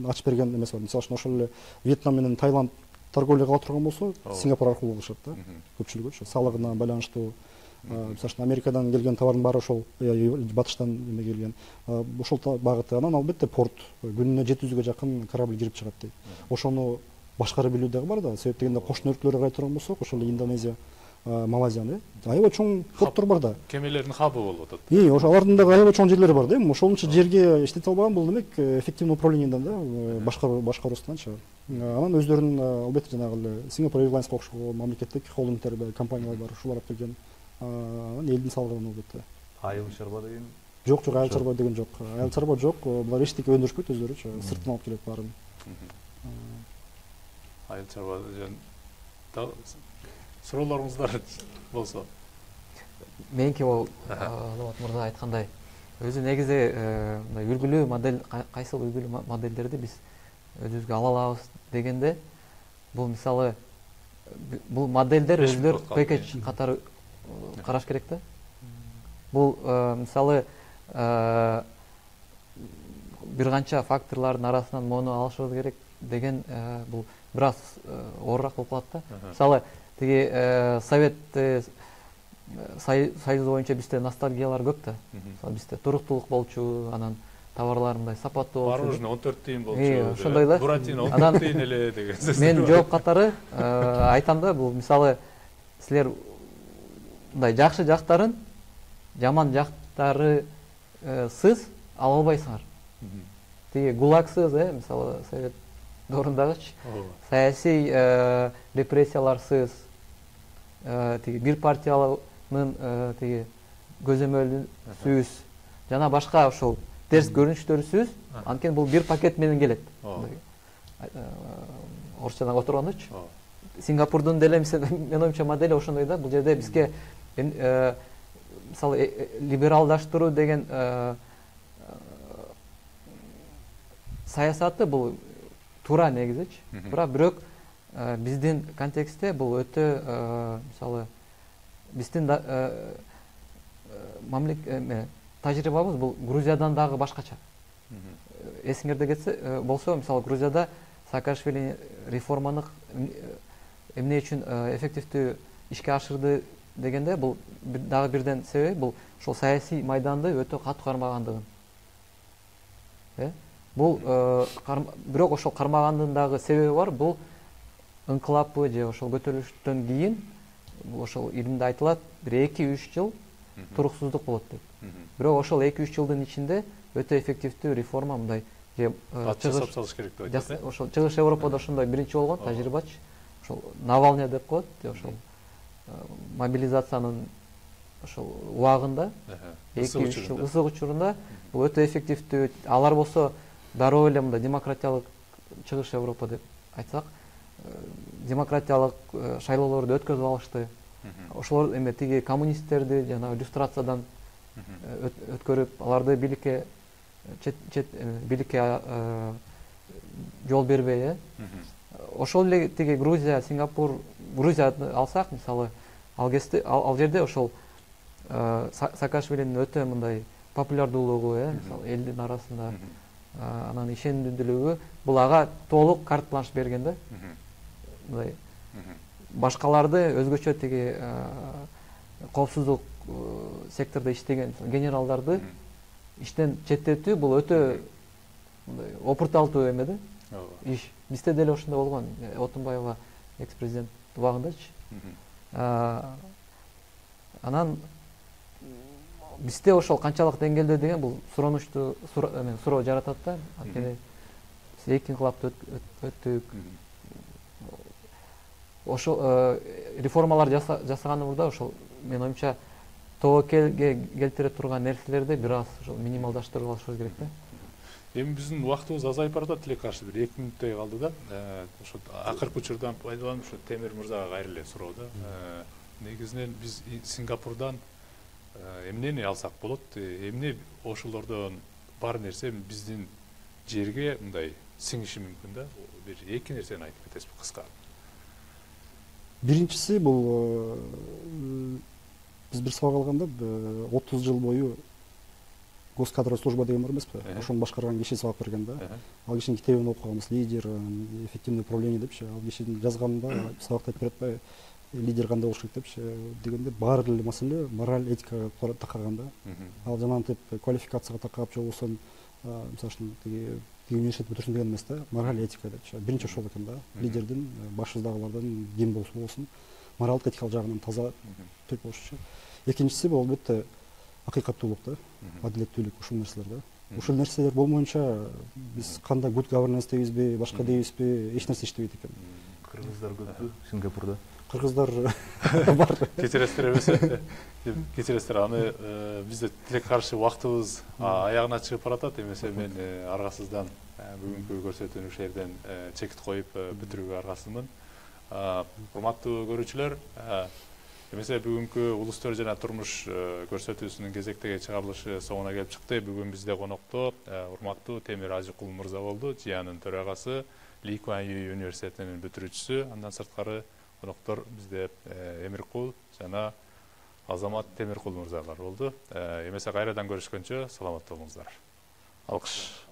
S2: ачып берген эмес бар. Мисалы үчүн ошол эле Вьетнам менен Таиланд торговля кыла турган болсо, Сингапур аркылуу кылышат да. Көпчүлүгү салыгына байланыштуу. Мисалы үчүн Америкадан келген товардын баары ошол батыштан эме келген. Ошол багыты. Анан албетте порт күнүнө 700ге жакын корабль кирип чыгат дейт. Ошону башкарып билүү дагы бар да. Себеп дегенде кошуна өлкөлөргө карай турган болсок, ошол эле Индонезия, Малайзия, аябай чоң порттор бар да.
S1: Кемелердин хабы болуп атат.
S2: Ошо алардын дагы аябай чоң жерлери бар да. Ошончо жерге иштете албаган бул демек эффективный управлениеден да, башкаруусунанчы. Анан өздөрүнүн албетте жанагы эле Singapore Airlines окшогон мамлекеттик холдингдер, компаниялар бар, ушулар алып келген. Анан элдин салыгын албетте.
S4: Айыл чарба деген
S2: Жок, айыл чарба деген жок. Айыл чарба жок. Булар эчтеке өндүрүшпөйт өздөрүчү, сырттан алып келет баарын.
S1: Айыл чарба суроолоруңуздар болсо.
S3: Меники ол Албат мырза айткандай, өзү негизи мындай үлгүлүү модель, кайсыл үлгүлүү модельдерди биз өзүбүзгө ала алабыз дегенде, бул мисалы бул модельдер өзүлөр пакетч катары караш керек да. Бул мисалы бир канча факторлордун арасынан мону алышыбыз керек деген бул бир аз оорураак болуп калат да. Мисалы тиги Совет Союзу боюнча бизде ностальгиялар көп да. Мисалы бизде туруктуулук болчу, анан товарлар мындай сапаттуу болчу.
S1: Мороженое 14 тыйын болчу.
S3: Ошондой да.
S1: Буратино 14 тыйын эле деген сөз.
S3: Мен жооп катары айтам да, бул мисалы силер мындай жакшы жактарын, жаман жактары сыз ала албайсыңар. Тиги гулагсыз, мисалы Совет доорундагычы саясий репрессияларсыз, тиги бир партиялынын тиги көзөмөлүсүз жана башка ошол терс көрүнүштөрүсүз, анткени бул бир пакет менен келет. Орусчадан отургондочу. Сингапурдун деле менин оюмча модели ошондой да. Бул жерде бизге мисалы либералдаштыруу деген саясаты бул туура негизичи. Бирок биздин контекстте бул өтө мисалы биздин тажрыйбабыз бул Грузиядан дагы башкача. Эсиңерде кетсе болсо, мисалы Грузияда Саакашвили реформаны эмне үчүн эффективдүү ишке ашырды дегенде, бул дагы бирден себеби бул ошол саясий майданды өтө катуу кармагандыгын. Бул бирок ошол кармагандын дагы себеби бар. Бул ыңкылаппы же ошол көтөрүлүштөн кийин ошол илимде айтылат, бир 2-3 жыл туруксуздук болот деп. Бирок ошол 2-3 жылдын ичинде өтө эффективдүү реформа мындай же
S1: жасап салыш керек деп айтат.
S3: Ошол Чыгыш Европада ошондой биринчи болгон тажрыйбачы. Ошол Навальный деп коет, ошол мобилизациянын ошол убагында 2-3 жыл ысык учурунда бул өтө эффективдүү. Алар болсо дароо эле мындай демократиялык Чыгыш Европа деп айтсак, демократиялык шайлоолорду өткөзүп алышты. Ошолор эме тиги коммунисттерди жана иллюстрациядан өткөрүп, аларды бийликке бийликке жол бербей, ошол эле тиги Грузия, Сингапур, Грузияны алсак, мисалы, ал жерде ошол Саакашвилинин өтө мындай популярдуулугу, мисалы, элдин арасында анан ишенимдүүлүгү бул ага толук карт-бланш берген да. Мындай башкаларды өзгөчө тиги коопсуздук сектордо иштеген генералдарды иштен четтетүү бул өтө мындай опурталдуу эме да. Иш. Бизде деле ошондой болгон. Отунбаева экс-президент убагындачы. Анан бизде ошол канчалык деңгээлде деген бул суронучтуу суроо жаратат да. Анткени эки инкылапты өттүк. Ошол реформалар жасаганыбызда ошол менин оюмча тобокелге келтире турган нерселерди бир аз ошол минималдаштырып алышыбыз керек да.
S1: Эми биздин убактыбыз азайып баратат эле, каршы бир 2 мүнөттөй калды да. Ошо акыркы учурдан пайдаланып ушу Темир мырзага кайра эле суроо да. Негизинен биз Сингапурдан эмнени алсак болот? Эмне ошолордон бар нерсе биздин жерге мындай сиңиши мүмкүн да? Бир 2 нерсени айтып кетесизби кыска?
S2: Биринчиси бул биз бир сабак алганда 30 жыл бою госкадровый служба деген бар эмеспи? Ошону башкарган киши сабак берген да. Ал кишинин китебин окуганбыз, лидер, эффективное управление депчи. Ал кишинин жазганында сабакта айтып берет, лидер кандай болуш керек депчи дегенде баары эле маселе мораль, этикага такаган да. Ал жанагынтип квалификацияга такап же болбосо мисалы үчүн тиги университет бүтүрсүн деген эмес да. Мораль, этика депчи. Биринчи ошол экен да. Лидердин башыбыздагылардан ким болсун моралдык, этикалык жагынан таза түрк болушучу. Экинчиси бул албетте акыйкаттуулук да, адилеттүүлүк, ушул нерселер да. Ушул нерселер болмоюнча биз кандай good governance дейбизби, башка дейбизби, эч нерсе иштебейт экен.
S4: Кыргыздар көппү Сингапурда?
S2: Кыргыздар бар.
S1: Кечиресиздер эмесе. Кечиресиздер, аны бизде тилек каршы убактыбыз аягына чыгып баратат. Эмесе мен аргасыздан бүгүнкү көрсөтүүнү ушул жерден чекит коюп бүтүрүүгө аргасызмын. Урматтуу көрүүчүлөр, эмесе бүгүнкү улустөр жана турмуш көрсөтүүсүнүн кезектеги чыгарылышы соңуна келип чыкты. Бүгүн бизде конокто урматтуу Темир Ажыкул мырза болду, ЖИАнын төрагасы, Ли Куан Ю университетинин бүтүрүүчүсү. Андан сырткары коноктор бизде Эмиркул жана Азамат Темиркул мырзалар болду. Эмесе кайрадан көрүшкөнчө саламатта болуңуздар. Алкыш.